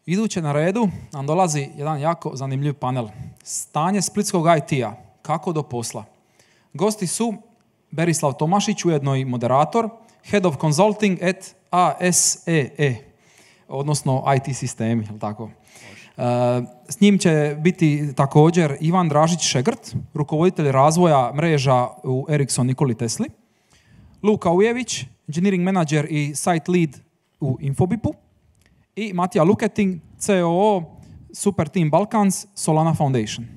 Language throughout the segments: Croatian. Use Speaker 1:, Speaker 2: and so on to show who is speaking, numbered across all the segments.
Speaker 1: Iduće na redu nam dolazi jedan jako zanimljiv panel. Stanje splitskog IT-a. Kako do posla? Gosti su Berislav Tomašić, ujedno i moderator, Head of Consulting at ASEE, odnosno IT sistemi, jel tako? S njim će biti također Ivan Dražić-Šegrt, rukovoditelj razvoja mreža u Ericsson Nikoli Tesli, Luka Ujević, engineering manager i site lead u Infobipu, i Matija Luketin, COO Super Team Balkans, Solana Foundation.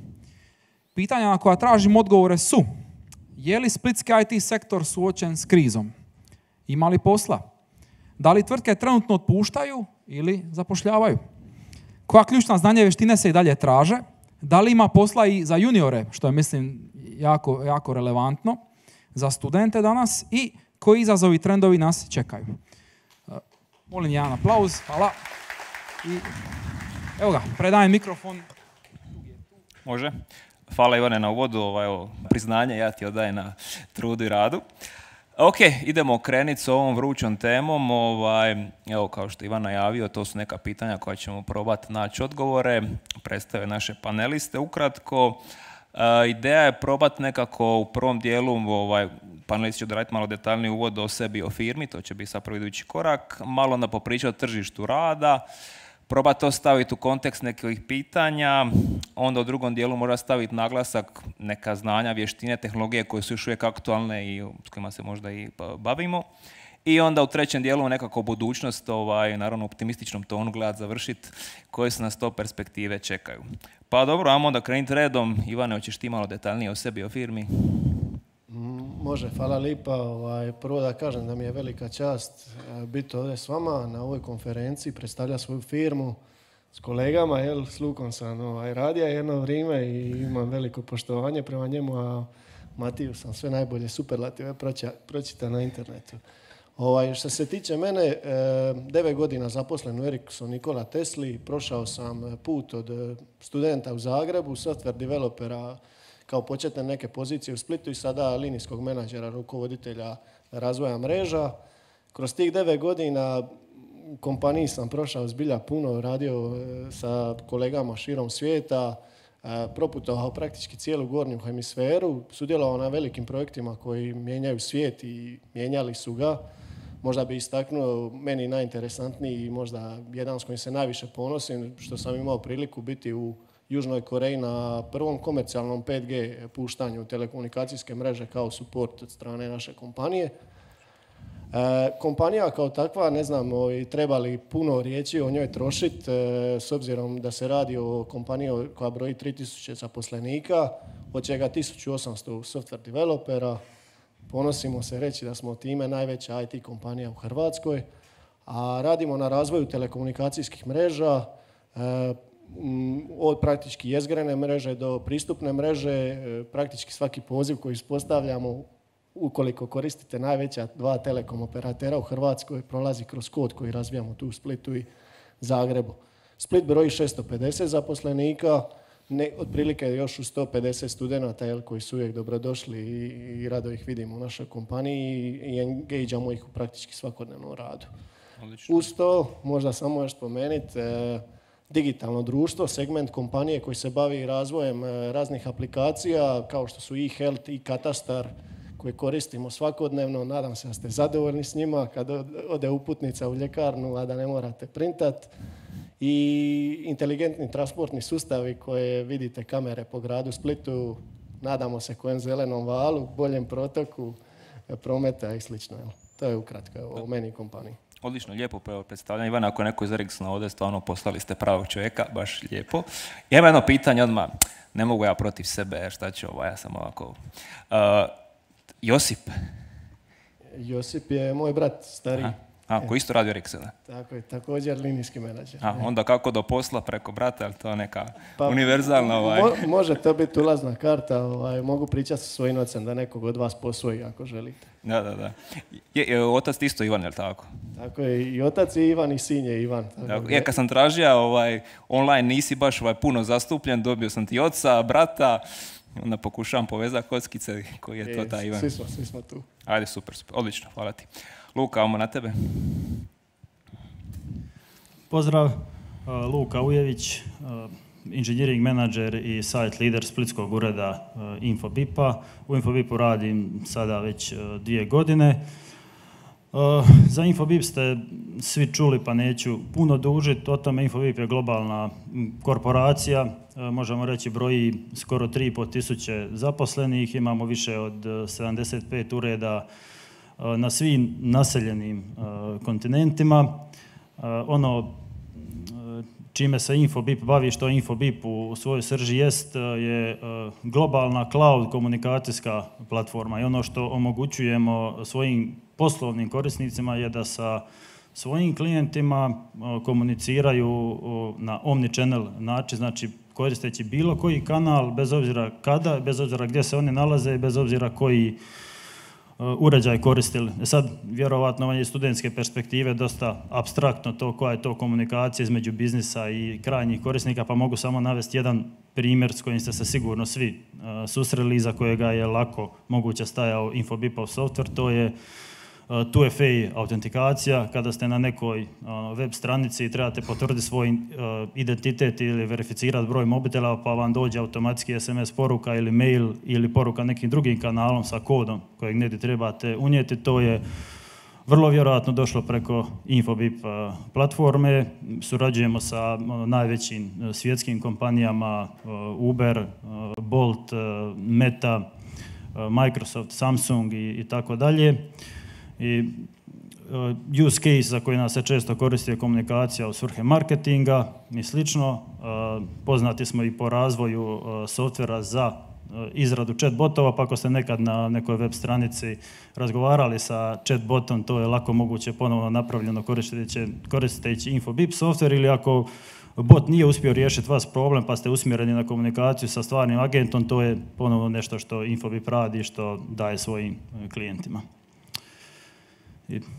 Speaker 1: Pitanja na koja tražim odgovore su: je li splitski IT sektor suočen s krizom? Ima li posla? Da li tvrtke trenutno otpuštaju ili zapošljavaju? Koja ključna znanja i vještine se i dalje traže? Da li ima posla i za juniore, što je, mislim, jako relevantno za studente danas, i koji izazovi i trendovi nas čekaju? Molim jedan aplauz, hvala. I evo ga, predajem mikrofon.
Speaker 2: Može. Hvala Ivane na uvodu, evo, priznanje ja ti odajem na trudu i radu. Ok, idemo krenuti s ovom vrućom temom. Evo, kao što je Ivan najavio, to su neka pitanja koja ćemo probati naći odgovore. Predstave naše paneliste ukratko. Ideja je probati nekako u prvom dijelu, panelisti će odraditi malo detaljniji uvod o sebi, o firmi, to će biti sad prvi idući korak, malo onda popričati o tržištu rada, probati to staviti u kontekst nekih pitanja, onda u drugom dijelu mora staviti naglasak neka znanja, vještine, tehnologije koje su još uvijek aktualne i s kojima se možda i bavimo. I onda u trećem dijelu nekako budućnost, naravno optimističnom tonu gledati, završiti, koje se nas to perspektive čekaju. Pa dobro, ajmo onda krenuti redom. Ivane, hoćeš ti malo detaljnije o sebi, o firmi?
Speaker 3: Može, hvala lipa. Prvo da kažem da mi je velika čast biti ovdje s vama na ovoj konferenciji, predstavlja svoju firmu s kolegama. S Lukom sam radio jedno vrijeme i imam veliko poštovanje prema njemu, a Matiju sam sve najbolje superlative pročita na internetu. Što se tiče mene, 9 godina zaposlen u Ericsson Nikola Tesli, prošao sam put od studenta u Zagrebu, software developera kao početne neke pozicije u Splitu i sada linijskog menadžera, rukovoditelja razvoja mreža. Kroz tih 9 godina u kompaniji sam prošao zbilja puno, radio sa kolegama širom svijeta, proputovao praktički cijelu gornju hemisferu, sudjelovao na velikim projektima koji mijenjaju svijet i mijenjali su ga. Možda bi istaknuo meni najinteresantniji i možda jedan s kojim se najviše ponosim, što sam imao priliku biti u Južnoj Koreji na prvom komercijalnom 5G puštanju telekomunikacijske mreže kao support od strane naše kompanije. Kompanija kao takva, ne znam treba li puno riječi o njoj trošiti, s obzirom da se radi o kompaniji koja broji 3000 zaposlenika, od čega 1800 software developera. Ponosimo se reći da smo time najveća IT kompanija u Hrvatskoj, a radimo na razvoju telekomunikacijskih mreža, od praktički jezgrene mreže do pristupne mreže. Praktički svaki poziv koji ispostavljamo, ukoliko koristite najveća 2 telekom operatera u Hrvatskoj, prolazi kroz kod koji razvijamo tu u Splitu i Zagrebu. Split broji 650 zaposlenika, otprilike još u 150 studenata koji su uvijek dobrodošli i rado ih vidimo u našoj kompaniji i engageamo ih u praktički svakodnevnom radu. Odlično. Uz to, možda samo još spomenuti, digitalno društvo, segment kompanije koji se bavi razvojem raznih aplikacija kao što su e-health i katastar koje koristimo svakodnevno. Nadam se da ste zadovoljni s njima kad ode uputnica u ljekarnu, a da ne morate printat. I inteligentni transportni sustavi koje vidite kamere po gradu Splitu, nadamo se kojem zelenom valu, boljem protoku prometa i slično. To je ukratko o meni i kompaniji.
Speaker 2: Odlično, lijepo predstavljanje. Ivana, ako je neko iz Ericssona ovdje, stvarno poslali ste pravog čovjeka, baš lijepo. Ja imam jedno pitanje odmah, ne mogu ja protiv sebe, jer šta ću ja sam ovako... Josip.
Speaker 3: Josip je moj brat, stariji.
Speaker 2: Koji isto radi u Ericssona?
Speaker 3: Tako je, također linijski menadžer.
Speaker 2: Onda kako do posla preko brata, ali to je neka univerzalna...
Speaker 3: Može to biti ulazna karta, mogu pričati sa svojim ocem da nekog od vas posvoji ako želite.
Speaker 2: Da. Otac ti isto Ivan, je li tako?
Speaker 3: Tako je, i otac je Ivan i sin je Ivan.
Speaker 2: Kad sam tražio online nisi baš puno zastupljen, dobio sam ti oca, brata, onda pokušavam povezati kockice koji je to taj Ivan.
Speaker 3: Svi smo tu.
Speaker 2: Ajde, super, odlično, hvala ti. Luka, ajmo na tebe.
Speaker 4: Pozdrav, Luka Ujević, engineering manager i site leader splitskog ureda Infobip-a. U Infobip-u radim sada već 2 godine. Za Infobip ste svi čuli, pa neću puno dužiti o tome. Infobip je globalna korporacija, možemo reći broji skoro 3.500 zaposlenih, imamo više od 75 ureda na svim naseljenim kontinentima. Ono čime se Infobip bavi, što Infobip u svojoj srži jest, je globalna cloud komunikacijska platforma i ono što omogućujemo svojim poslovnim korisnicima je da sa svojim klijentima komuniciraju na omnichannel način, znači koristeći bilo koji kanal, bez obzira kada, bez obzira gdje se oni nalaze i bez obzira koji uređaj koristili. Sad, vjerovatno iz studentske perspektive dosta apstraktno to koja je to komunikacija između biznisa i krajnjih korisnika, pa mogu samo navesti jedan primjer s kojim ste se sigurno svi susreli i za kojega je lako moguće stajao Infobipov software, to je 2FA autentikacija. Kada ste na nekoj web stranici i trebate potvrditi svoj identitet ili verificirati broj mobitela, pa vam dođe automatski SMS poruka ili mail ili poruka nekim drugim kanalom sa kodom kojeg negdje trebate unijeti, to je vrlo vjerojatno došlo preko Infobip platforme. Surađujemo sa najvećim svjetskim kompanijama Uber, Bolt, Meta, Microsoft, Samsung i tako dalje. I use case za koji nas se često koristi je komunikacija u svrhe marketinga i slično. Poznati smo i po razvoju softvera za izradu chatbotova, pa ako ste nekad na nekoj web stranici razgovarali sa chatbotom, to je lako moguće ponovno napravljeno koristeći Infobip software, ili ako bot nije uspio riješiti vas problem pa ste usmjereni na komunikaciju sa stvarnim agentom, to je ponovno nešto što Infobip radi i što daje svojim klijentima.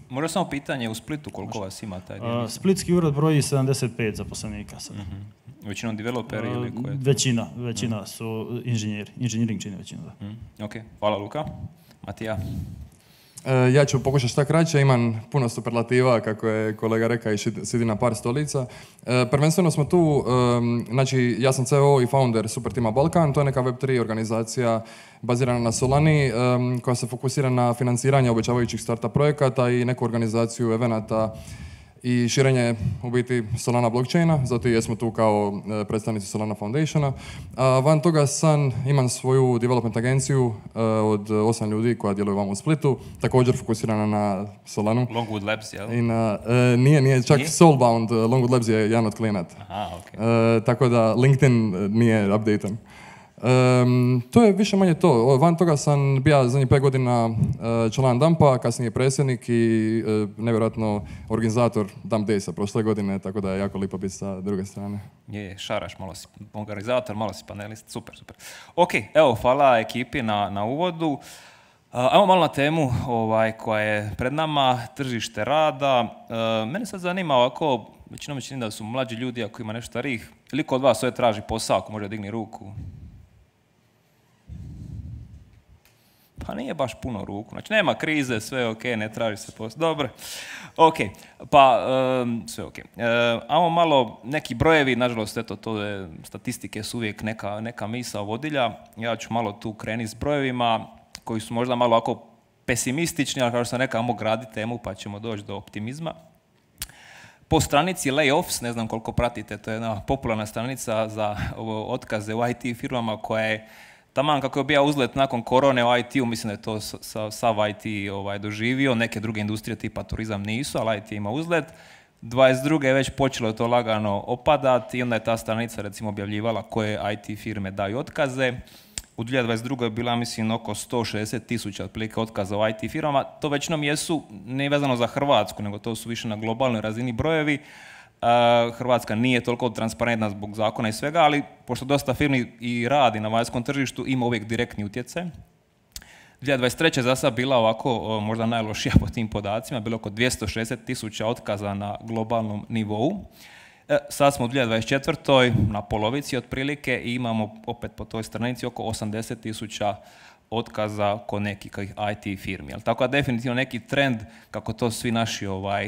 Speaker 2: Možda samo pitanje u Splitu, koliko vas ima taj dio?
Speaker 4: Splitski ured broji 75 zaposlenika sada.
Speaker 2: Većinom developeri ili koje?
Speaker 4: Većina su inženjeri. Inženjering čini većinu, da.
Speaker 2: Ok, hvala Luka. Matija?
Speaker 5: Ja ću pokušati šta kraće, imam puno superlativa, kako je kolega rekao, i sidi na par stolica. Prvenstveno smo tu, znači ja sam CEO i founder Supertima Balkan, to je neka Web3 organizacija bazirana na Solani, koja se fokusira na financiranje obećavajućih startup projekata i neku organizaciju evenata i širenje u biti Solana blockchaina, zato jesmo tu kao predstavnici Solana Foundationa. Van toga imam svoju development agenciju od 8 ljudi koja djeluje vam u Splitu, također fokusirana na Solanu.
Speaker 2: Longwood Labs, jel?
Speaker 5: Nije, čak Soulbound, Longwood Labs je jedan od klijenata.
Speaker 2: Aha, okay.
Speaker 5: Tako da LinkedIn nije updatan. To je više manje to. Van toga sam bio zadnjih 5 godina član DAMP-a, kasnije predsjednik i nevjerojatno organizator Dump Daysa prošle godine, tako da je jako lijepo biti sa druge strane.
Speaker 2: Je, šaraš, malo si organizator, malo si panelist, super. Ok, evo, hvala ekipi na uvodu. Ajmo malo na temu koja je pred nama, tržište rada. Mene sad zanima ovako, većinom čini da su mlađi ljudi, ako ima nešto starijih, ili kod vas ovdje traži posao, ako može digni ruku? Pa nije baš puno ruku, znači nema krize, sve je ok, ne traži se posao. Dobro, ok, pa sve ok. Ajmo malo neki brojevi, nažalost, eto, to je, statistike su uvijek neka misao vodilja. Ja ću malo tu krenuti s brojevima koji su možda malo ovako pesimistični, ali kao što sam rekao, ajmo graditi temu pa ćemo doći do optimizma. Po stranici Layoffs, ne znam koliko pratite, to je jedna popularna stranica za otkaze u IT firmama koja je taman kako je bio uzlet nakon korone u IT-u, mislim da je to sav IT doživio, neke druge industrije tipa turizam nisu, ali IT ima uzlet. 22. je već počelo to lagano opadati i onda je ta stranica recimo objavljivala koje IT firme daju otkaze. U 2022. je bila, mislim, oko 160.000 otprilike otkaza u IT firmama. To većinom jesu, ne vezano za Hrvatsku, nego to su više na globalnoj razini brojevi. Hrvatska nije toliko transparentna zbog zakona i svega, ali pošto dosta firmi i radi na vanjskom tržištu, ima uvijek direktni utjecaj. 2023. je za sad bila ovako možda najlošija po tim podacima, bilo oko 260.000 otkaza na globalnom nivou. Sad smo u 2024. na polovici otprilike i imamo opet po toj stranici oko 80.000 otkaza kod nekih IT firmi. Tako da definitivno neki trend, kako to svi naši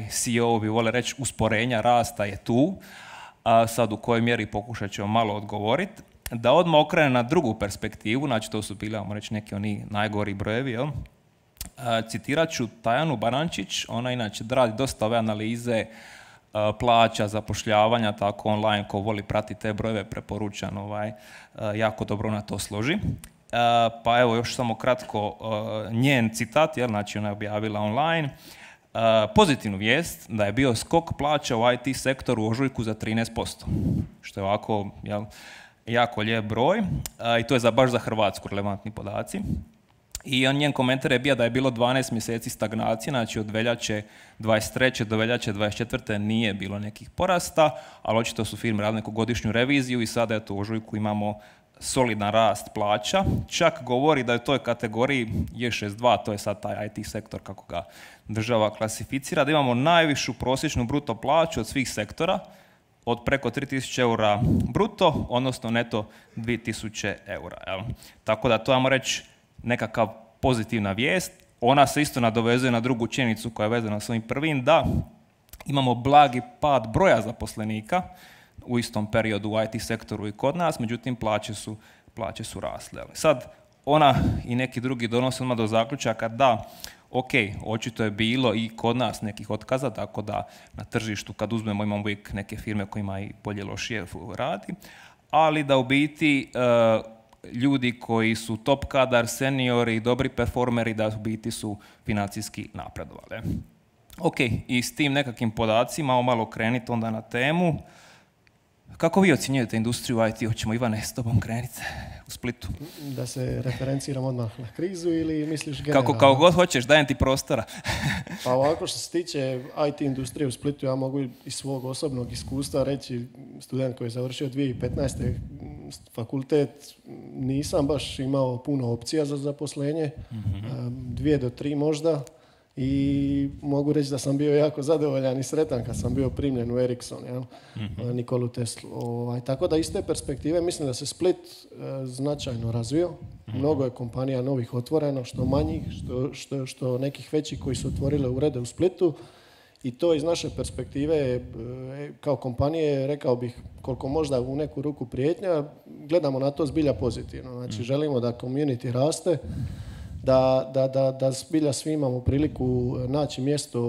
Speaker 2: CEO-ovi vole reći, usporenja rasta je tu, a sad u kojoj mjeri pokušat ćemo malo odgovoriti. Da odmah okrene na drugu perspektivu, znači to su bili, ajmo reći, neki oni najgori brojevi, jel? Citirat ću Tajanu Barančić, ona inače radi dosta ove analize plaća, zapošljavanja, tako online, ko voli pratiti te brojeve, preporučam, jako dobro na to složi. Pa evo još samo kratko njen citat, jer znači ona je objavila online. Pozitivnu vijest da je bio skok plaća u IT sektoru u ožujku za 13%, što je ovako jako lijep broj i to je baš za Hrvatsku relevantni podaci. I njen komentar je bio da je bilo 12 mjeseci stagnacije, znači od veljače 23. do veljače 24. nije bilo nekih porasta, ali očito su firme radile neku godišnju reviziju i sada eto u ožujku imamo solidan rast plaća. Čak govori da je u toj kategoriji J62, to je sad taj IT sektor kako ga država klasificira, da imamo najvišu prosječnu bruto plaću od svih sektora, od preko 3000 eura bruto, odnosno neto 2000 eura. Jel? Tako da to ajmo reći nekakav pozitivna vijest. Ona se isto nadovezuje na drugu činjenicu koja je vezana s ovim prvim, da imamo blagi pad broja zaposlenika u istom periodu u IT sektoru i kod nas, međutim plaće su rasle. Sad, ona i neki drugi donose odmah do zaključaka da, ok, očito je bilo i kod nas nekih otkaza, tako da na tržištu kad uzmemo imamo uvijek neke firme kojima i bolje lošije radi, ali da u biti ljudi koji su top kadar, seniori, dobri performeri, da u biti su financijski napredovali. Ok, i s tim nekakvim podacima, malo kreniti onda na temu. Kako vi ocjenjujete industriju IT? Hoćemo, Ivane, s tobom krenuti u Splitu?
Speaker 3: Da se referenciram odmah na krizu ili misliš generalno?
Speaker 2: Kako god hoćeš, dajem ti prostora.
Speaker 3: Pa ovako što se tiče IT industrije u Splitu, ja mogu iz svog osobnog iskustva reći, student koji je završio 2015. fakultet, nisam baš imao puno opcija za zaposlenje, 2 do 3 možda. I mogu reći da sam bio jako zadovoljan i sretan kad sam bio primljen u Ericsson, Nikolu Teslu. Tako da iz te perspektive mislim da se Split značajno razvio. Mnogo je kompanija novih otvoreno, što manjih, što nekih većih koji su otvorile urede u Splitu. I to iz naše perspektive kao kompanije, rekao bih, koliko možda u neku ruku prijetnja, gledamo na to zbilja pozitivno. Znači želimo da community raste, da zbilja svi imamo priliku naći mjesto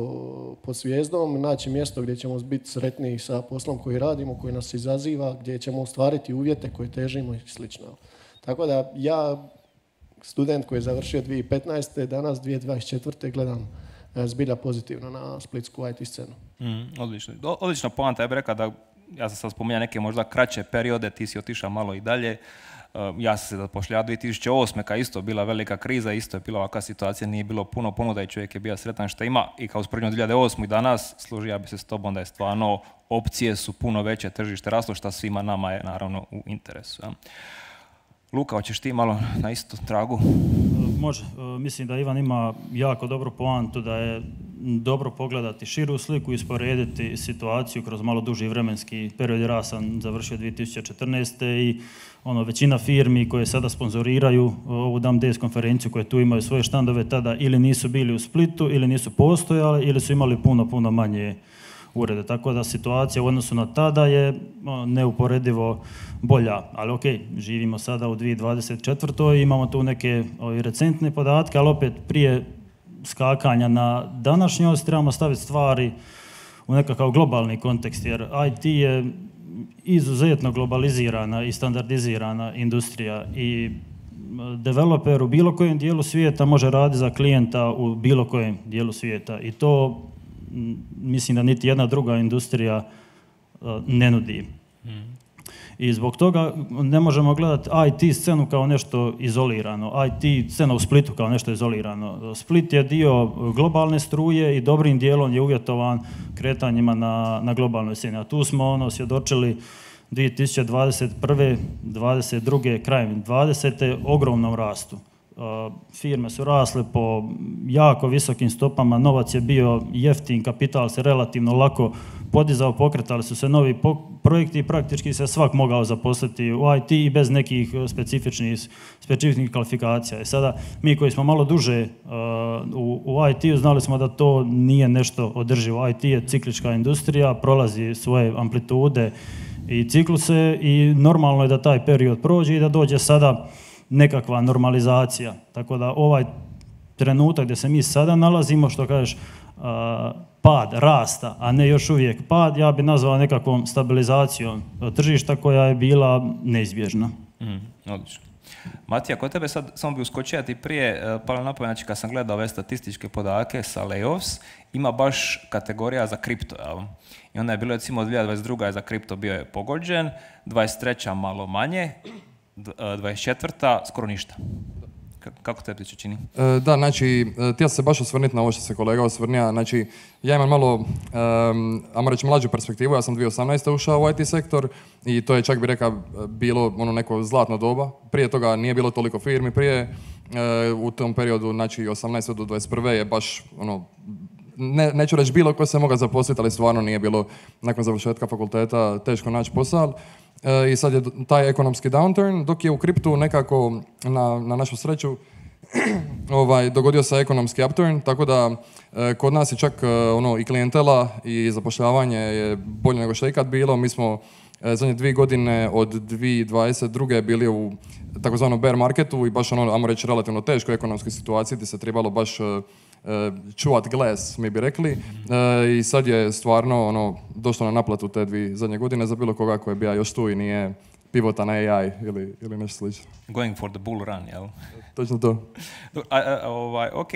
Speaker 3: pod zvijezdom, naći mjesto gdje ćemo biti sretniji sa poslom koji radimo, koji nas izaziva, gdje ćemo ostvariti uvjete koje težimo i slično. Tako da ja, student koji je završio 2015. danas 2024. gledam zbilja pozitivno na splitsku IT scenu.
Speaker 2: Odlična poanta, ja bih rekao da, ja sam sad spominjao neke možda kraće periode, ti si otišao malo i dalje. Ja sam se zapošljavao 2008. kad isto bila velika kriza, isto je bila ovakva situacija, nije bilo puno ponuda i čovjek je bio sretan što ima. I kao usporedno 2008. i danas, složio ja bi se s tobom da je stvarno opcije su puno veće, tržište raslo, što svima nama je naravno u interesu. Ja. Luka, hoćeš ti malo na isto tragu?
Speaker 4: Može. Mislim da Ivan ima jako dobru poantu, da je dobro pogledati širu sliku i usporediti situaciju kroz malo duži vremenski period, jer ja sam završio 2014. i većina firmi koje sada sponzoriraju ovu Dam Days konferenciju, koje tu imaju svoje štandove, tada ili nisu bili u Splitu, ili nisu postojali, ili su imali puno manje urede. Tako da situacija u odnosu na tada je neuporedivo bolja. Ali ok, živimo sada u 2024. Imamo tu neke recentne podatke, ali opet prije skakanja na današnjost trebamo staviti stvari u nekakav globalni kontekst, jer IT je izuzetno globalizirana i standardizirana industrija i developer u bilo kojem dijelu svijeta može raditi za klijenta u bilo kojem dijelu svijeta i to mislim da niti jedna druga industrija ne nudi. I zbog toga ne možemo gledati IT scenu kao nešto izolirano, IT scena u Splitu kao nešto izolirano. Split je dio globalne struje i dobrim dijelom je uvjetovan kretanjima na globalnoj sceni. A tu smo svjedočili 2021. 22. krajem 20. ogromnom rastu. Firme su rasle po jako visokim stopama, novac je bio jeftin, kapital se relativno lako podizao, pokretali su se novi projekti i praktički se svak mogao zaposliti u IT i bez nekih specifičnih kvalifikacija. I sada mi koji smo malo duže u IT-u znali smo da to nije nešto održivo. IT je ciklička industrija, prolazi svoje amplitude i cikluse i normalno je da taj period prođe i da dođe sada nekakva normalizacija. Tako da ovaj trenutak gdje se mi sada nalazimo, što kažeš, pad rasta, a ne još uvijek pad, ja bi nazvao nekakvom stabilizacijom tržišta koja je bila neizbježna.
Speaker 2: Odlično. Matija, kod tebe sad samo bi uskočio ti prije, palo na pamet, znači kad sam gledao ove statističke podatke sa layoffs, ima baš kategorija za kripto, jel? I onda je bilo recimo 2022. je za kripto bio je pogođen, 23. malo manje, 24. skoro ništa. Kako tebi se čini?
Speaker 5: Da, znači, htio se baš osvrniti na ovo što se kolega osvrnija. Znači, ja imam malo, ajmo reći, mlađu perspektivu. Ja sam 2018. ušao u IT sektor i to je, čak bi rekao, bilo ono neko zlatno doba. Prije toga nije bilo toliko firmi. Prije, u tom periodu, znači 18. do 21. je baš, ono, neću reći bilo ko se mogao zaposliti, ali stvarno nije bilo nakon završetka fakulteta teško naći posao. I sad je taj ekonomski downturn, dok je u kriptu nekako na našu sreću dogodio se ekonomski upturn, tako da kod nas je čak i klijentela i zapošljavanje je bolje nego što je ikad bilo. Mi smo zadnje 2 godine od 2022. bili u takozvanom bear marketu i baš ajmo reći, relativno teškoj ekonomskoj situaciji gdje se trebalo baš čuvat glas, mi bi rekli. I sad je stvarno došlo na naplatu te 2 zadnje godine za bilo koga koji je bio još tu i nije pivota na AI ili nešto slično.
Speaker 2: Going for the bull run, jel?
Speaker 5: Točno to.
Speaker 2: Ok,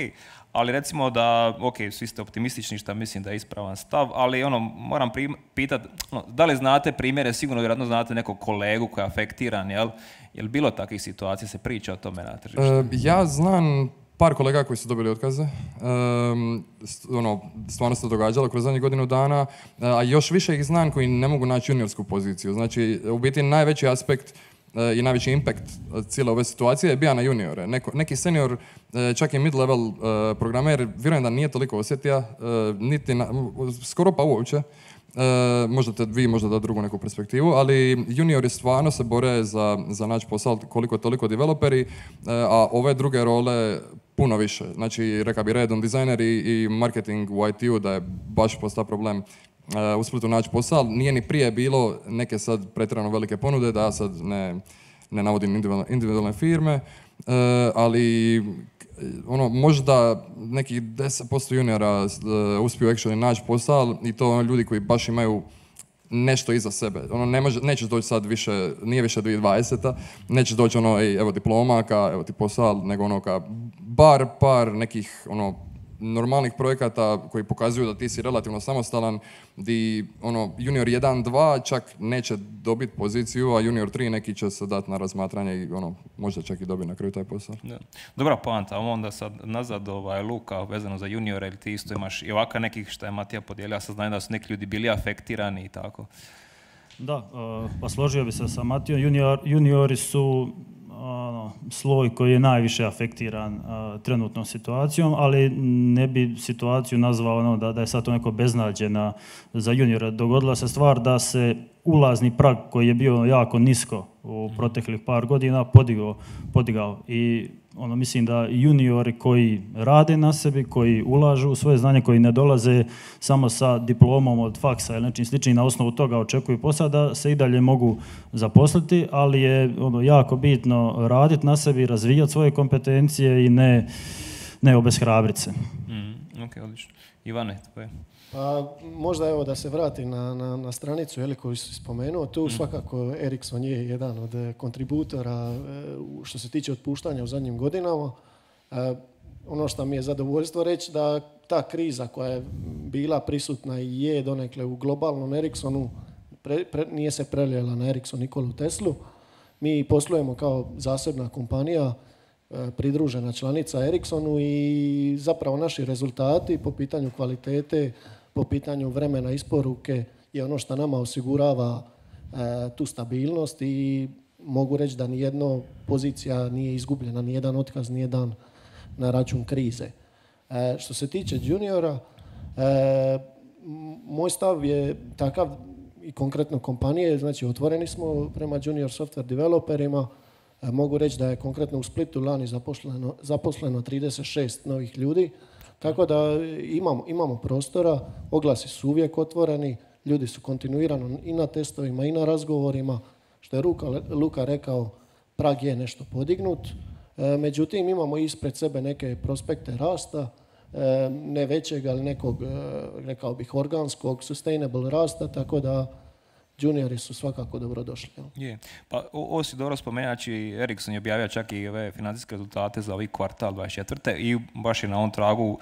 Speaker 2: ali recimo da, svi ste optimistični, što mislim da je ispravan stav, ali moram pitati, da li znate primjere, sigurno vjerojatno znate nekog kolegu koji je afektiran, jel? Jel bilo takvih situacija, se priča o tome na tržištu?
Speaker 5: Ja znam par kolega koji su dobili otkaze. Stvarno se to događalo kroz zadnjih godinu dana, a još više ih znam koji ne mogu naći juniorsku poziciju. Znači, u biti najveći aspekt i najveći impact cijele ove situacije je bio na juniore. Neki senior, čak i mid-level programer, vjerujem da nije toliko osjetio, skoro pa uopće. Možda vi možda da drugu neku perspektivu, ali juniori stvarno se bore za naći posao koliko toliko developeri, a ove druge role puno više. Znači, rekao bi redom dizajner i marketing u IT-u da je baš postao problem u Splitu naći posao. Nije ni prije bilo neke sad pretjerano velike ponude, da ja sad ne navodim individualne firme, ali možda nekih 10% juniora uspiju actually naći posao i to ljudi koji baš imaju nešto iza sebe. Nećeš doći sad više, nije više 2020. Nećeš doći evo diploma, evo ti posao, nego bar par nekih normalnih projekata koji pokazuju da ti si relativno samostalan, di junior 1-2 čak neće dobiti poziciju, a junior 3 neki će se dati na razmatranje i možda čak i dobiti na kraju taj posao.
Speaker 2: Da. Dobra poanta, onda sad nazad Luka vezano za juniore, ili ti isto imaš i ovaka nekih što je Matija podijelio, ja sad znam da su neki ljudi bili afektirani i tako.
Speaker 4: Da, pa složio bi se sa Matijom, juniori su sloj koji je najviše afektiran trenutnom situacijom, ali ne bi situaciju nazvao da je sad to neko beznađe za juniora. Dogodila se stvar da se ulazni prag koji je bio jako nisko u proteklih par godina podigao i mislim da juniori koji rade na sebi, koji ulažu u svoje znanje, koji ne dolaze samo sa diplomom od faksa ili nečim sličnim, na osnovu toga očekuju posao, da se i dalje mogu zaposliti, ali je jako bitno raditi na sebi, razvijati svoje kompetencije i ne obeshrabriti se.
Speaker 2: Ok, odlično. Ivane, tvoje?
Speaker 3: Pa, možda evo da se vrati na stranicu koju si spomenuo, tu svakako Ericsson je jedan od kontributora što se tiče otpuštanja u zadnjim godinama. Ono što mi je zadovoljstvo reći da ta kriza koja je bila prisutna i je donekle u globalnom Ericssonu nije se prelijela na Ericsson Nikolu Teslu. Mi poslujemo kao zasebna kompanija, pridružena članica Ericssonu i zapravo naši rezultati po pitanju kvalitete, po pitanju vremena isporuke je ono što nama osigurava tu stabilnost i mogu reći da nijedna pozicija nije izgubljena, nijedan otkaz nije dan na račun krize. Što se tiče juniora, moj stav je takav i konkretno kompanije, znači otvoreni smo prema junior software developerima. Mogu reći da je konkretno u Splitu lani zaposleno 36 novih ljudi, tako da imamo prostora, oglasi su uvijek otvoreni, ljudi su kontinuirano i na testovima i na razgovorima, što je Luka rekao, prag je nešto podignut, međutim imamo ispred sebe neke prospekte rasta, ne većeg, ali nekog, rekao bih, organskog, sustainable rasta, tako da juniori su svakako dobrodošli.
Speaker 2: Je. Pa ovo si dobro spomenaći, Ericsson je objavio čak i ove financijske rezultate za ovaj kvartal 24. i baš je na ovom tragu,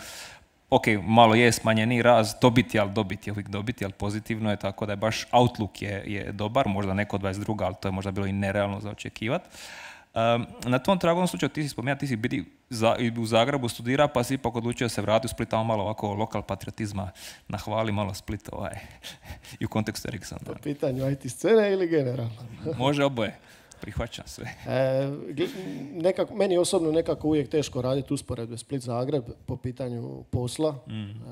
Speaker 2: ok, malo je smanjeni rast dobiti, ali uvijek dobiti, ali pozitivno je, tako da je baš outlook je dobar, možda neko 22, ali to je možda bilo i nerealno za očekivati. Na tom tragu, slučaju, ti si spomenuo, ti si bili u Zagrebu studira, pa si ipak odlučio se vratiti u Split, tamo malo ovako lokal patriotizma, nahvali malo Split i u kontekstu Ericssona.
Speaker 3: Po pitanju IT scene ili generalno?
Speaker 2: Može oboje, prihvaćam sve.
Speaker 3: Meni osobno nekako uvijek teško raditi usporedbe Split-Zagreb po pitanju posla.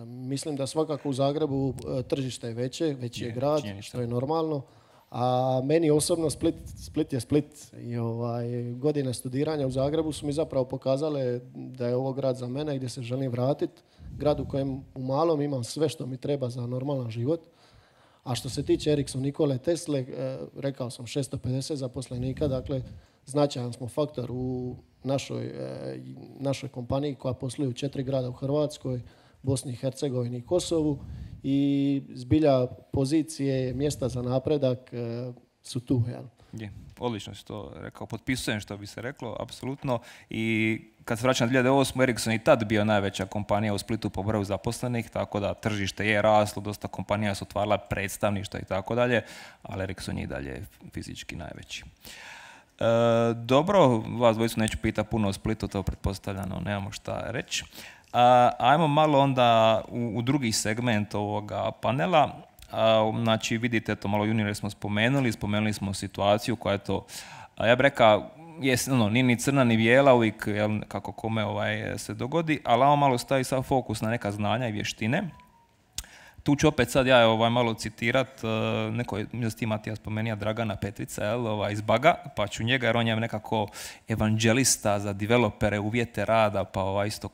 Speaker 3: Mislim da svakako u Zagrebu tržište je veći je grad, što je normalno. A meni osobno Split je Split i godine studiranja u Zagrebu su mi zapravo pokazale da je ovo grad za mene gdje se želim vratiti. Grad u kojem u malom imam sve što mi treba za normalan život. A što se tiče Ericsson Nikole Tesle, rekao sam 650 zaposlenika, dakle značajan smo faktor u našoj kompaniji koja posluje u 4 grada u Hrvatskoj, Bosni i Hercegovini i Kosovu. I zbilja pozicije, mjesta za napredak su tu.
Speaker 2: Je, odlično si to rekao, potpisujem što bi se reklo, apsolutno. I kad se vraćam na 2008. Ericsson i tad bio najveća kompanija u Splitu po broju zaposlenih, tako da tržište je raslo, dosta kompanija su otvarala predstavništva i tako dalje, ali Ericsson je i dalje fizički najveći. Dobro, vas dvojicu neću pitati puno o Splitu, to pretpostavljano, nemamo šta reći. Ajmo malo onda u drugi segment ovoga panela. Znači, vidite, to malo juniore smo spomenuli smo situaciju koja je to, ja bih rekao, nije ni crna ni bijela, uvijek kako kome se dogodi, ali ovo malo stavi sav fokus na neka znanja i vještine. Tu ću opet sad ja malo citirat, neko je, mislim da ti Matija spomenija, Dragana Petrica, iz Baga, pa ću njega, jer on je nekako evanđelista za developere, uvjete rada, pa isto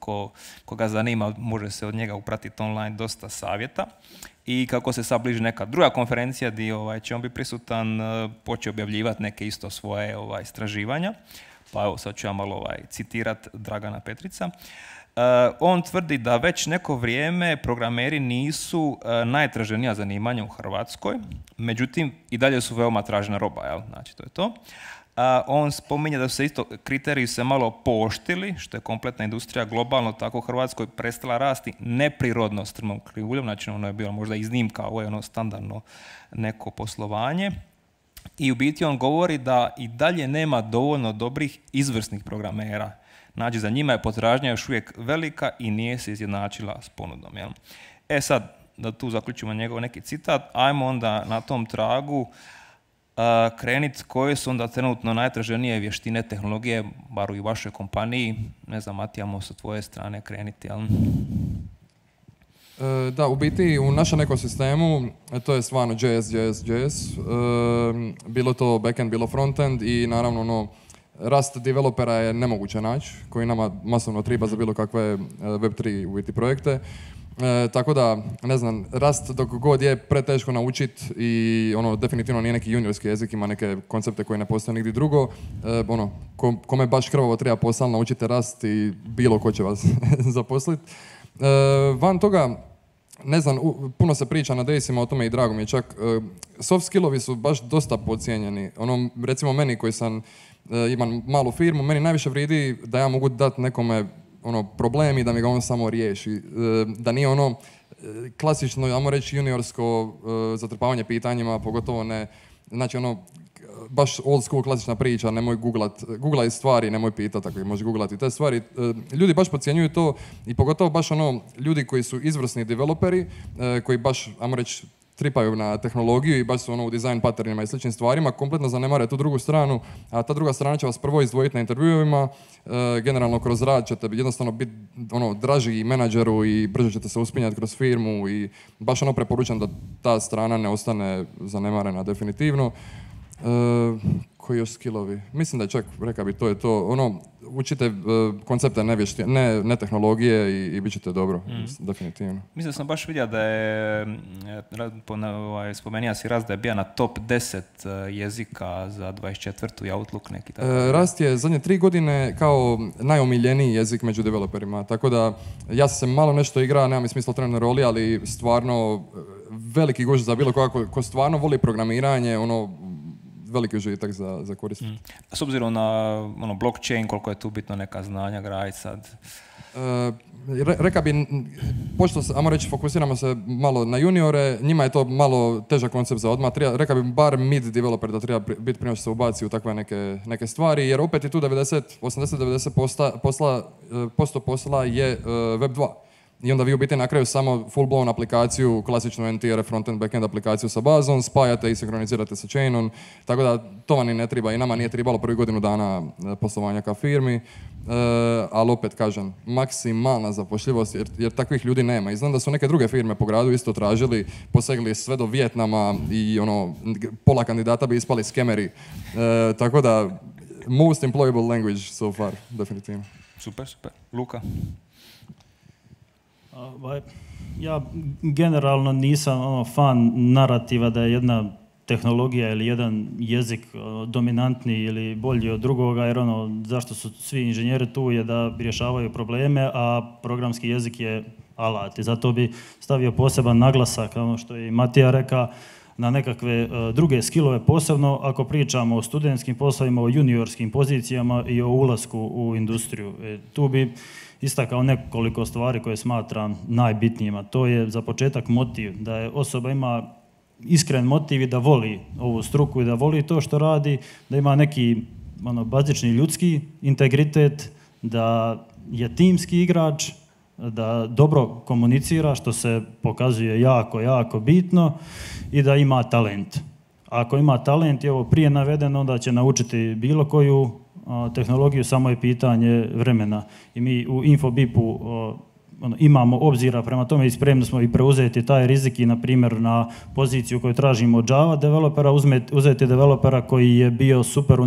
Speaker 2: koga zanima, može se od njega upratiti online dosta savjeta. I kako se sad bliži neka druga konferencija gdje će on biti prisutan, počeo objavljivati neke isto svoje istraživanja. Pa evo, sad ću ja malo citirat Dragana Petrica. On tvrdi da već neko vrijeme programeri nisu najtraženija zanimanja u Hrvatskoj, međutim i dalje su veoma tražena roba, znači to je to. On spominje da su se isto kriteriji se malo pooštili, što je kompletna industrija globalno tako u Hrvatskoj prestala rasti neprirodno strmom krivuljom, znači ono je bilo možda iznimka, ovo je ono standardno neko poslovanje. I u biti on govori da i dalje nema dovoljno dobrih izvrsnih programera. Znači, za njima je potražnja još uvijek velika i nije se izjednačila s ponudom. Jel? Sad, da tu zaključimo njegov neki citat, ajmo onda na tom tragu kreniti koje su onda trenutno najtraženije vještine tehnologije, bar u vašoj kompaniji. Ne znam, Matija, sa tvoje strane kreniti, jel?
Speaker 5: Da, u biti u našem ekosistemu to je stvarno JS. Bilo to backend, bilo frontend i naravno rast developera je nemoguće naći, koji nama masovno treba za bilo kakve Web3 u biti projekte. Tako da, ne znam, rast dok god je preteško naučiti i definitivno nije neki juniorski jezik, ima neke koncepte koje ne postoje nigdje drugo. Kome baš krvavo treba posao, naučite rast i bilo ko će vas zaposliti. Van toga, ne znam, puno se priča na Daysima o tome i drago mi je čak. Soft skillovi su baš dosta podcijenjeni. Recimo meni koji imam malu firmu, meni najviše vridi da ja mogu dati nekome problem i da mi ga on samo riješi. Da nije klasično, ajmo reći, juniorsko zatrpavanje pitanjima, pogotovo ne, znači baš old school klasična priča, nemoj googlaj stvari, nemoj pitati, ako možeš googlati te stvari. Ljudi baš podcjenjuju to i pogotovo baš ljudi koji su izvrsni developeri, koji baš, ajmo reći, tripaju na tehnologiju i baš su ono u design patternima i sličnim stvarima, kompletno zanemare tu drugu stranu, a ta druga strana će vas prvo izdvojiti na intervjuima, generalno kroz rad ćete jednostavno biti ono, draži i menadžeru i brže ćete se uspinjati kroz firmu i baš ono preporučam da ta strana ne ostane zanemarena definitivno. Koji još skillovi? Mislim da je čak, rekao bi, to je to. Ono, učite koncepte ne tehnologije i bit ćete dobro, definitivno.
Speaker 2: Mislim da sam baš vidio da je, spomenija si Rast da je bio na top 10 jezika za 24. i Outlook neki tako.
Speaker 5: Rast je zadnje 3 godine kao najomiljeniji jezik među developerima, tako da ja sam se malo nešto igra, nema mi smisla u trenutnoj roli, ali stvarno veliki gušt za bilo koga ko stvarno voli programiranje, ono, veliki užitak za korisnike.
Speaker 2: S obzirom na ono, blockchain, koliko je tu bitno neka znanja graditi sad?
Speaker 5: Reka bi, pošto, ajmo reći, fokusiramo se malo na juniore, njima je to malo težak koncept za odmah. Reka bi bar mid developer da treba biti prije što se ubaci u takve neke stvari, jer opet je tu 80-90% posla je Web 2. I onda vi u biti na kraju samo full-blown aplikaciju, klasičnu NTR, front-end, back-end aplikaciju sa bazom, spajate i sinkronizirate sa chainom, tako da to vam i ne treba i nama nije trebalo prvi godinu dana poslovanja kao firmi, ali opet kažem, maksimalna zapošljivost jer takvih ljudi nema. I znam da su neke druge firme po gradu isto tražili, posegli sve do Vijetnama i ono, pola kandidata bi ispali skemeri, tako da most employable language so far, definitivno.
Speaker 2: Super. Luka?
Speaker 4: Ja generalno nisam fan narativa da je jedna tehnologija ili jedan jezik dominantni ili bolji od drugoga, jer zašto su svi inženjeri tu je da rješavaju probleme, a programski jezik je alat. I zato bi stavio poseban naglasak, ono što je i Matija rekao, na nekakve druge skillove, posebno ako pričamo o studentskim poslovima, o juniorskim pozicijama i o ulasku u industriju. Tu bi istakao nekoliko stvari koje smatram najbitnijima. To je za početak motiv, da je osoba ima iskren motiv i da voli ovu struku i da voli to što radi, da ima neki bazični ljudski integritet, da je timski igrač, da dobro komunicira, što se pokazuje jako, jako bitno, i da ima talent. Ako ima talent i ovo prije navedeno, onda će naučiti bilo koju tehnologiju, samo je pitanje vremena. I mi u Infobipu imamo obzira prema tome i spremni smo i preuzeti taj rizik i, na primjer, na poziciju koju tražimo od Java developera, uzeti developera koji je bio super u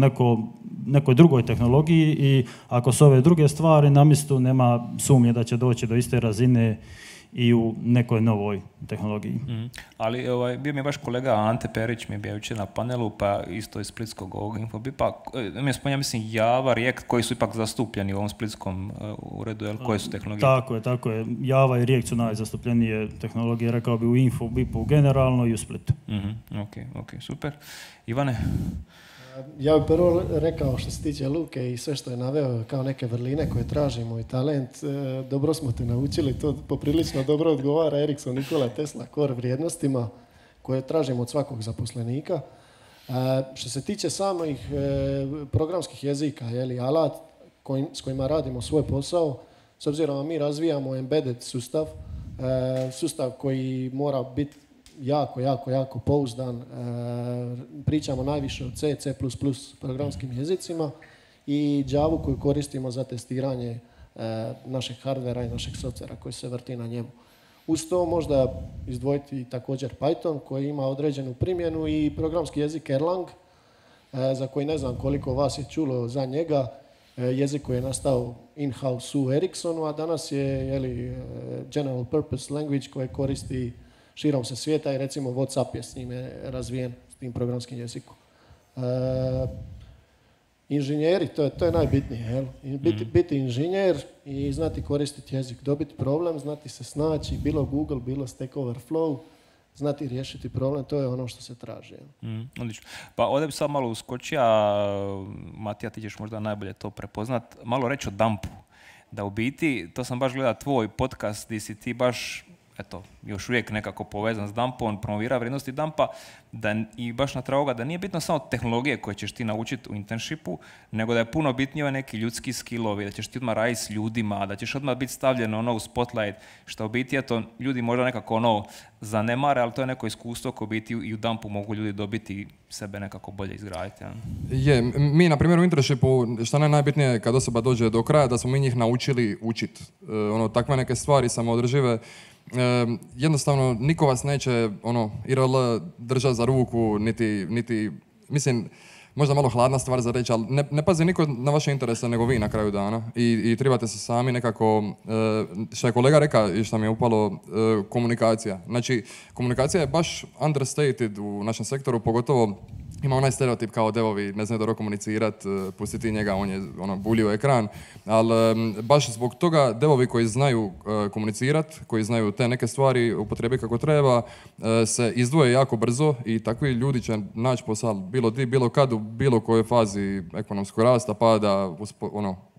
Speaker 4: nekoj drugoj tehnologiji i ako su ove druge stvari na mjestu, nema sumnje da će doći do iste razine i u nekoj novoj tehnologiji.
Speaker 2: Ali bio mi je baš kolega Ante Perić, mi je bio jučer na panelu, pa isto iz splitskog ovog Infobipa. Mi je spominjao, mislim, Java, React, koji su ipak zastupljeni u ovom splitskom uredu, koje su tehnologije?
Speaker 4: Tako je. Java i React su najzastupljenije tehnologije, rekao bi, u Infobipu generalno i u Splitu.
Speaker 2: Ok, super. Ivane?
Speaker 3: Ja bih prvo rekao, što se tiče Luke i sve što je naveo kao neke vrline koje tražimo i talent, dobro smo te naučili, to poprilično dobro odgovara Ericsson, Nikola Tesla, core vrijednostima koje tražimo od svakog zaposlenika. Što se tiče samih programskih jezika, alat s kojima radimo svoj posao, s obzirom da mi razvijamo embedded sustav koji mora biti jako pouzdan. Pričamo najviše o C, C++ programskim jezicima i Javu koju koristimo za testiranje našeg hardvera i našeg softvera koji se vrti na njemu. Uz to možda izdvojiti također Python koji ima određenu primjenu i programski jezik Erlang za koji ne znam koliko vas je čulo za njega. Jezik koji je nastao in-house u Ericssonu, a danas je general purpose language koje koristi širom se svijeta i recimo WhatsApp je s njime razvijen, s tim programskim jezikom. Inženjeri, to je najbitnije. Biti inženjer i znati koristiti jezik, dobiti problem, znati se snaći, bilo Google, bilo Stack Overflow, znati riješiti problem, to je ono što se traži.
Speaker 2: Odlično. Pa ovdje bi sad malo uskočio, Matija, ti ćeš možda najbolje to prepoznat, malo reći o dumpu. Da u biti, to sam baš gledao tvoj podcast gdje si ti baš eto, još uvijek nekako povezan s Dumpom, promovira vrijednosti Dumpa, i baš na tragu da nije bitno samo tehnologije koje ćeš ti naučiti u internshipu, nego da je puno bitnije neki ljudski skillovi, da ćeš ti odmah raditi s ljudima, da ćeš odmah biti stavljen u spotlight, što u biti, eto, ljudi možda nekako zanemare, ali to je neko iskustvo koje u biti i u Dumpu mogu ljudi dobiti i sebe nekako bolje izgraditi. Ja.
Speaker 5: Mi, na primjer, u internshipu, što najbitnije kad osoba dođe do kraja, da smo mi njih naučili učiti. Takve neke stvari samoodržive. Jednostavno, niko vas neće IRL držati za ruku, niti, mislim, možda malo hladna stvar za reći, ali ne pazi niko na vaše interese nego vi na kraju dana. I trebate se sami nekako, što je kolega rekao i što mi je upalo, komunikacija. Znači, komunikacija je baš understated u našem sektoru, pogotovo ima onaj stereotip kao devovi ne znaju dobro komunicirati, pustiti njega, on je bulio ekran, ali baš zbog toga devovi koji znaju komunicirati, koji znaju te neke stvari upotrijebiti kako treba, se izdvoje jako brzo i takvi ljudi će naći posao bilo kad, u bilo kojoj fazi ekonomskog rasta, pada,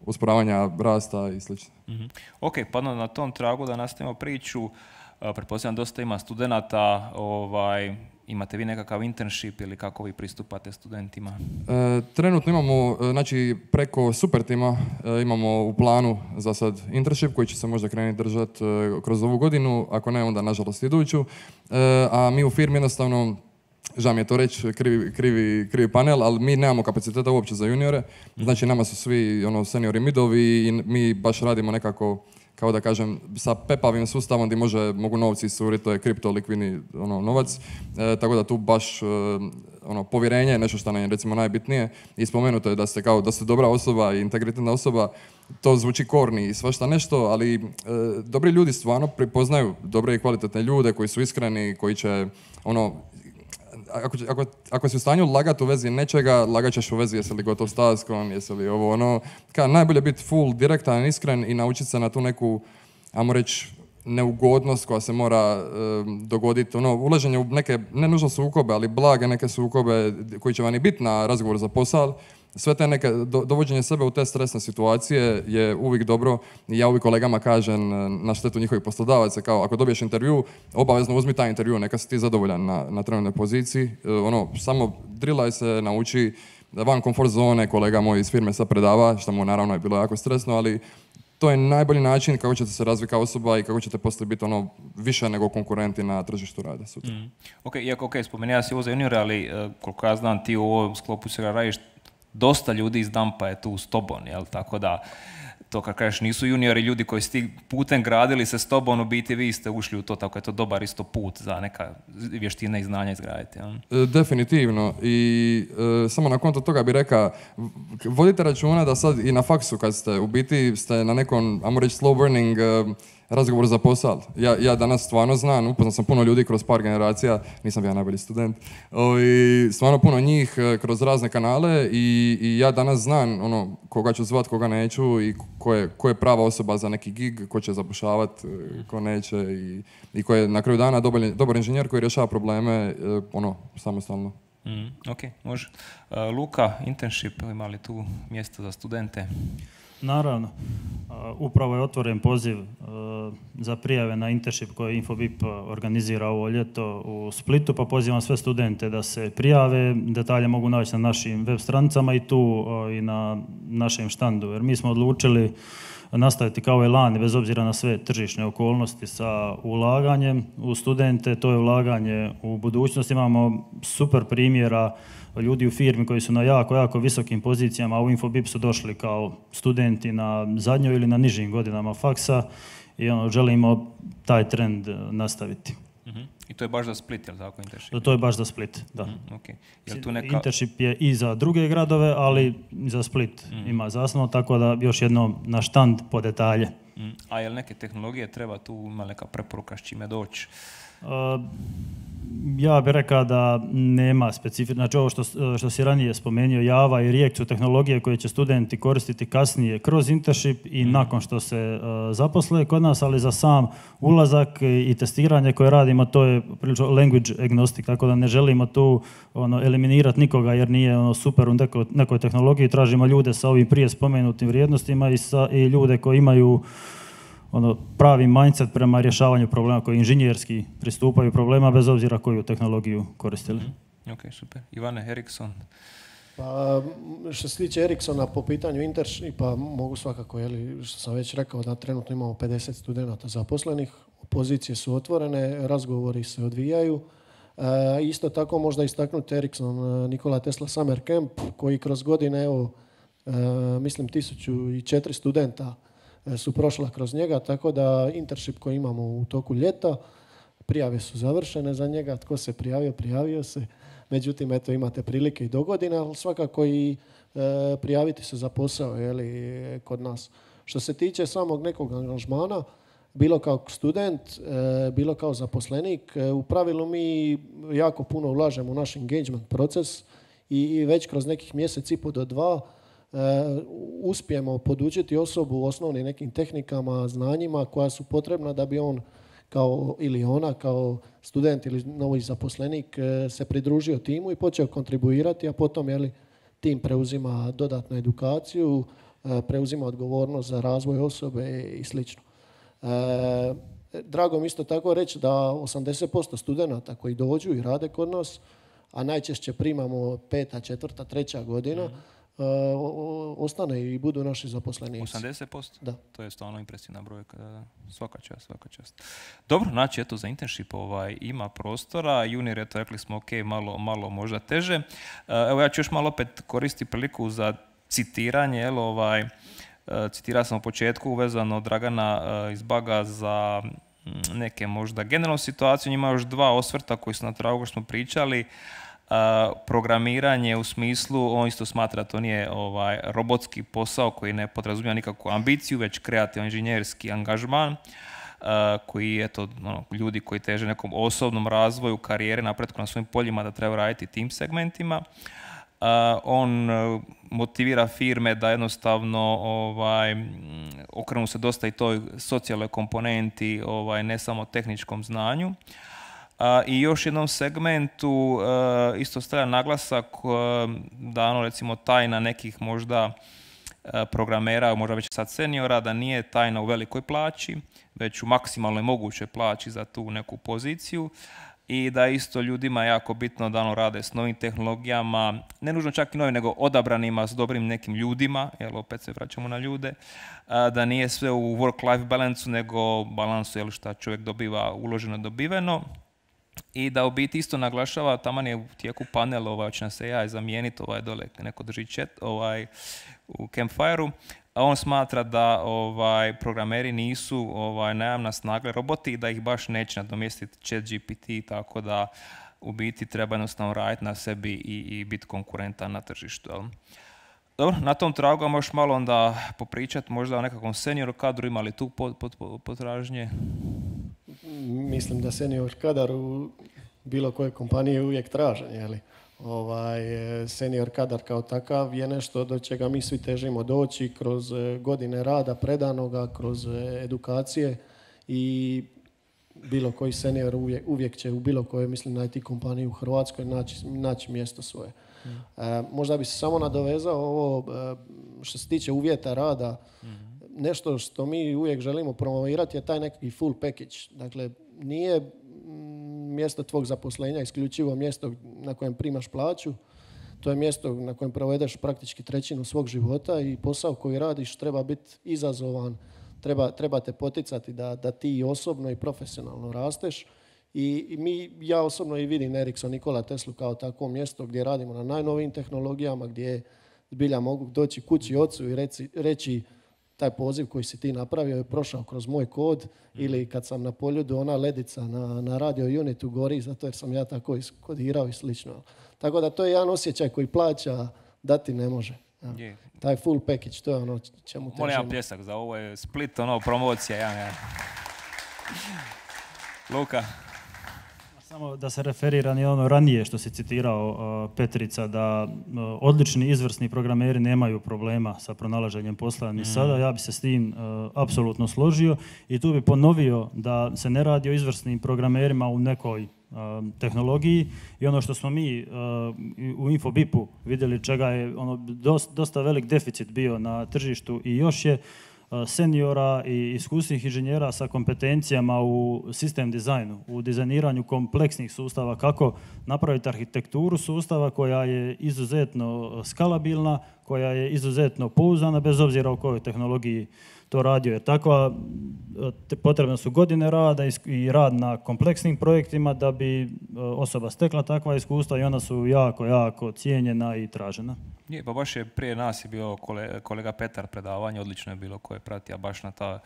Speaker 5: usporavanja rasta i sl.
Speaker 2: Mm-hmm. Ok, pa na tom tragu da nastavimo priču, pretpostavljam dosta ima studenata, imate vi nekakav internship ili kako vi pristupate studentima?
Speaker 5: Trenutno imamo, znači preko Supertima imamo u planu za sad internship koji će se možda krenuti držati kroz ovu godinu, ako ne onda nažalost iduću, a mi u firmi jednostavno, žao mi je to reći, krivi panel, ali mi nemamo kapaciteta uopće za juniore, znači nama su svi seniori midovi i mi baš radimo nekako, kao da kažem, sa pepavim sustavom gdje mogu novci iscuriti, to je kripto, likvidni novac, tako da tu baš povjerenje je nešto što nam je recimo najbitnije i spomenuto je da ste dobra osoba i integritetna osoba, to zvuči korni i svašta nešto, ali dobri ljudi stvarno prepoznaju dobre i kvalitetne ljude koji su iskreni, koji će ako si u stanju lagati u vezi nečega, lagat ćeš u vezi jesi li gotov s taskom, jesi li najbolje biti full direktan, iskren i naučiti se na tu neku, ajmo reći, neugodnost koja se mora dogoditi. Ulaženje u neke, ne nužno sukobe, ali blage neke sukobe koji će vam i biti na razgovor za posao. Sve te neke, dovođenje sebe u te stresne situacije je uvijek dobro i ja uvijek kolegama kažem na štetu njihovih poslodavaca, kao ako dobiješ intervju, obavezno uzmi taj intervju, neka si ti zadovoljan na trenutnoj poziciji. Samo drillaj se, nauči van komfort zone, kolega moj iz firme sad predava, što mu naravno je bilo jako stresno, ali to je najbolji način kako ćete se razviti kao osoba i kako ćete poslije biti više nego konkurenti na tržištu rada sutra.
Speaker 2: Iako spomenuo si ovo za juniore, ali koliko ja znam ti u ovom sklopu se radiš, dosta ljudi iz Dumpa je tu s tobom, jel? Tako da, to kad kažeš nisu juniori ljudi koji su ti putem gradili se s tobom, u biti vi ste ušli u to, tako je to dobar isto put za neka vještine i znanja izgraditi. Jel?
Speaker 5: Definitivno. I samo na konto toga bih rekao, vodite računa da sad i na faksu kad ste na nekom, ajmo reći, slow burning razgovor za posao. Ja danas stvarno znam, upoznao sam puno ljudi kroz par generacija, nisam bio najbolji student, stvarno puno njih kroz razne kanale i ja danas znam koga ću zvat, koga neću i ko je prava osoba za neki gig, ko će zapošljavati, ko neće i ko je na kraju dana dobar inženjer koji rješava probleme samostalno.
Speaker 2: Ok, može. Luka, internship, ima li tu mjesto za studente?
Speaker 4: Naravno. Upravo je otvoren poziv za prijave na internship koji Infobip organizira ovo ljeto u Splitu, pa pozivam sve studente da se prijave. Detalje mogu naći na našim web stranicama i tu i na našem štandu, jer mi smo odlučili nastaviti kao elan, bez obzira na sve tržišne okolnosti, sa ulaganjem u studente. To je ulaganje u budućnost. Imamo super primjera ljudi u firmi koji su na jako visokim pozicijama, a u Infobip su došli kao studenti na zadnjoj ili na nižim godinama faksa i želimo taj trend nastaviti.
Speaker 2: I to je baš za Split, je li tako, internship?
Speaker 4: To je baš za Split, da. Internship je i za druge gradove, ali i za Split ima zasnovu, tako da još jednom na štand po detalje.
Speaker 2: A je li neke tehnologije treba tu, ima neka preporuka s čime doći?
Speaker 4: Ja bih rekao da nema specifično, znači ovo što si ranije spomenuo, Java i React su tehnologije koje će studenti koristiti kasnije kroz internship i nakon što se zaposle kod nas, ali za sam ulazak i testiranje koje radimo, to je prilično language agnostic, tako da ne želimo tu eliminirati nikoga jer nije super u nekoj tehnologiji, tražimo ljude sa ovim prije spomenutim vrijednostima i ljude koji imaju pravi mindset prema rješavanju problema koji inženjerski pristupaju problema bez obzira koju tehnologiju koristili.
Speaker 2: Ok, super. Ivane, Ericsson.
Speaker 3: Pa, što se tiče Ericssona po pitanju internshipa, mogu svakako, što sam već rekao, da trenutno imamo 50 studenata zaposlenih, pozicije su otvorene, razgovori se odvijaju. Isto tako možda istaknuti Ericsson Nikola Tesla Summer Camp, koji kroz godine, evo, mislim 1400 studenta su prošla kroz njega, tako da internship koji imamo u toku ljeta, prijave su završene za njega, tko se prijavio se. Međutim, eto, imate prilike i do godine, ali svakako i prijaviti se za posao kod nas. Što se tiče samog nekog angažmana, bilo kao student, bilo kao zaposlenik, u pravilu mi jako puno ulažemo u naš engagement proces i već kroz nekih mjesec i po do 2 uspijemo podučiti osobu osnovnim nekim tehnikama, znanjima koja su potrebna da bi on ili ona kao student ili novi zaposlenik se pridružio timu i počeo kontribuirati, a potom tim preuzima dodatnu edukaciju, preuzima odgovornost za razvoj osobe i slično. Drago mi isto tako reći da 80% studenata koji dođu i rade kod nas, a najčešće primamo 5., 4., 3. godina, ostane i budu naši zaposlenici.
Speaker 2: 80%?
Speaker 3: Da.
Speaker 2: To je stvarno impresivna brojka. Svaka čast. Dobro, znači eto za internship ima prostora. Junior, eto rekli smo ok, malo možda teže. Evo ja ću još malo opet koristiti priliku za citiranje. Citirao sam u početku vezano Dragana iz Baga za neke možda generalnu situaciju. Ima još 2 osvrta koji su na tragu što smo pričali. Programiranje u smislu, on isto smatra da to nije robotski posao koji ne podrazumijeva nikakvu ambiciju, već kreativan inženjerski angažman koji, eto, ljudi koji teže nekom osobnom razvoju, karijere, napretku na svojim poljima da treba raditi tim segmentima. On motivira firme da jednostavno okrenu se dosta i toj socijalnoj komponenti, ne samo tehničkom znanju. I još jednom segmentu isto stavlja naglasak da recimo tajna nekih možda programera, možda već sad seniora, da nije tajna u velikoj plaći, već u maksimalnoj mogućoj plaći za tu neku poziciju. I da isto ljudima je jako bitno da rade s novim tehnologijama, ne nužno čak i novim, nego odabranima s dobrim nekim ljudima, jer opet se vraćamo na ljude, da nije sve u work-life balansu, nego balansu šta čovjek dobiva uloženo dobiveno. I da u biti isto naglašava, taman je u tijeku panel, hoće nas se AI zamijeniti, dole neko drži chat u Campfire-u, a on smatra da programeri nisu najamna snaga roboti i da ih baš neće nadomjestiti ChatGPT, tako da u biti treba jednostavno raditi na sebi i biti konkurentan na tržištu. Jel? Dobro, na tom tragu vam još malo onda popričati možda o nekakvom senior kadru, ima li tu potražnje?
Speaker 3: Mislim da senior kadar u bilo koje kompanije uvijek tražen, jeli? Senior kadar kao takav je nešto do čega mi svi težimo doći kroz godine rada predanoga, kroz edukacije i bilo koji senior uvijek će u bilo kojoj, mislim, na IT kompaniji u Hrvatskoj naći mjesto svoje. Možda bi se samo nadovezao ovo što se tiče uvjeta rada. Nešto što mi uvijek želimo promovirati je taj neki full package. Dakle, nije mjesto tvog zaposlenja isključivo mjesto na kojem primaš plaću. To je mjesto na kojem provedeš praktički 1/3 svog života i posao koji radiš treba biti izazovan, treba te poticati da ti osobno i profesionalno rasteš. Ja osobno i vidim Ericsson Nikola Teslu kao takvo mjesto gdje radimo na najnovijim tehnologijama, gdje zbilja mogu doći kući ocu i reći taj poziv koji si ti napravio je prošao kroz moj kod, ili kad sam na Poljudu ona ledica na radio unitu gori zato jer sam ja tako iskodirao i slično. Tako da to je jedan osjećaj koji plaća dati ne može. Ja. Taj full package, to je ono čemu težimo.
Speaker 2: Molim pljesak za ovo je Split, promocija. Ja. Luka.
Speaker 4: Samo da se referiram i ono ranije što si citirao, Petrica, da odlični, izvrsni programeri nemaju problema sa pronalaženjem posla ni sada. Ja bi se s tim apsolutno složio i tu bi ponovio da se ne radi o izvrsnim programerima u nekoj tehnologiji i ono što smo mi u Infobipu vidjeli čega je dosta velik deficit bio na tržištu i još je seniora i iskusnih inženjera sa kompetencijama u sistem dizajnu, u dizajniranju kompleksnih sustava, kako napraviti arhitekturu sustava koja je izuzetno skalabilna, koja je izuzetno pouzdana, bez obzira o kojoj tehnologiji to radio. Jer takva potrebne su godine rada i rad na kompleksnim projektima da bi osoba stekla takva iskustva i ona su jako, jako cijenjena i tražena.
Speaker 2: Je, pa baš je prije nas je bio kolega Petar predavanje, odlično je bilo koje pratija baš na ta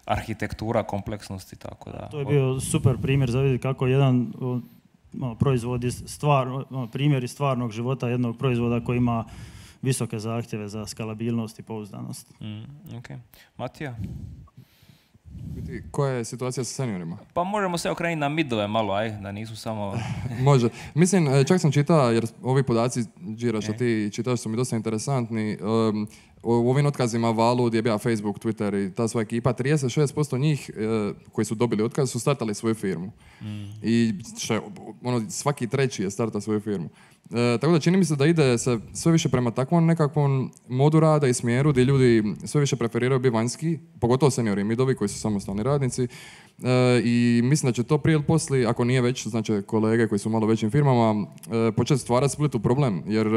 Speaker 2: arhitektura, kompleksnosti, tako da.
Speaker 4: To je bio super primjer za vidjeti kako jedan proizvod primjer iz stvarnog života jednog proizvoda koji ima visoke zahtjeve za skalabilnost i pouzdanost.
Speaker 2: Okay. Matija?
Speaker 5: Koja je situacija sa seniorima?
Speaker 2: Pa možemo se okrenuti na midove malo, da nisu samo...
Speaker 5: Može. Mislim, čak sam čitao, jer ovi podaci, Đira, što ti čitaš su mi dosta interesantni. U ovim otkazima Valu, DBA, Facebook, Twitter i ta sva ekipa, 36% njih koji su dobili otkaz su startali svoju firmu. I svaki treći je starta svoju firmu. Tako da čini mi se da ide se sve više prema takvom nekakvom modu rada i smjeru gdje ljudi sve više preferiraju biti vanjski, pogotovo seniori i midovi koji su samostalni radnici. I mislim da će to prije ili poslije, ako nije već, znači kolege koji su u malo većim firmama, početi stvarati Splitu problem, jer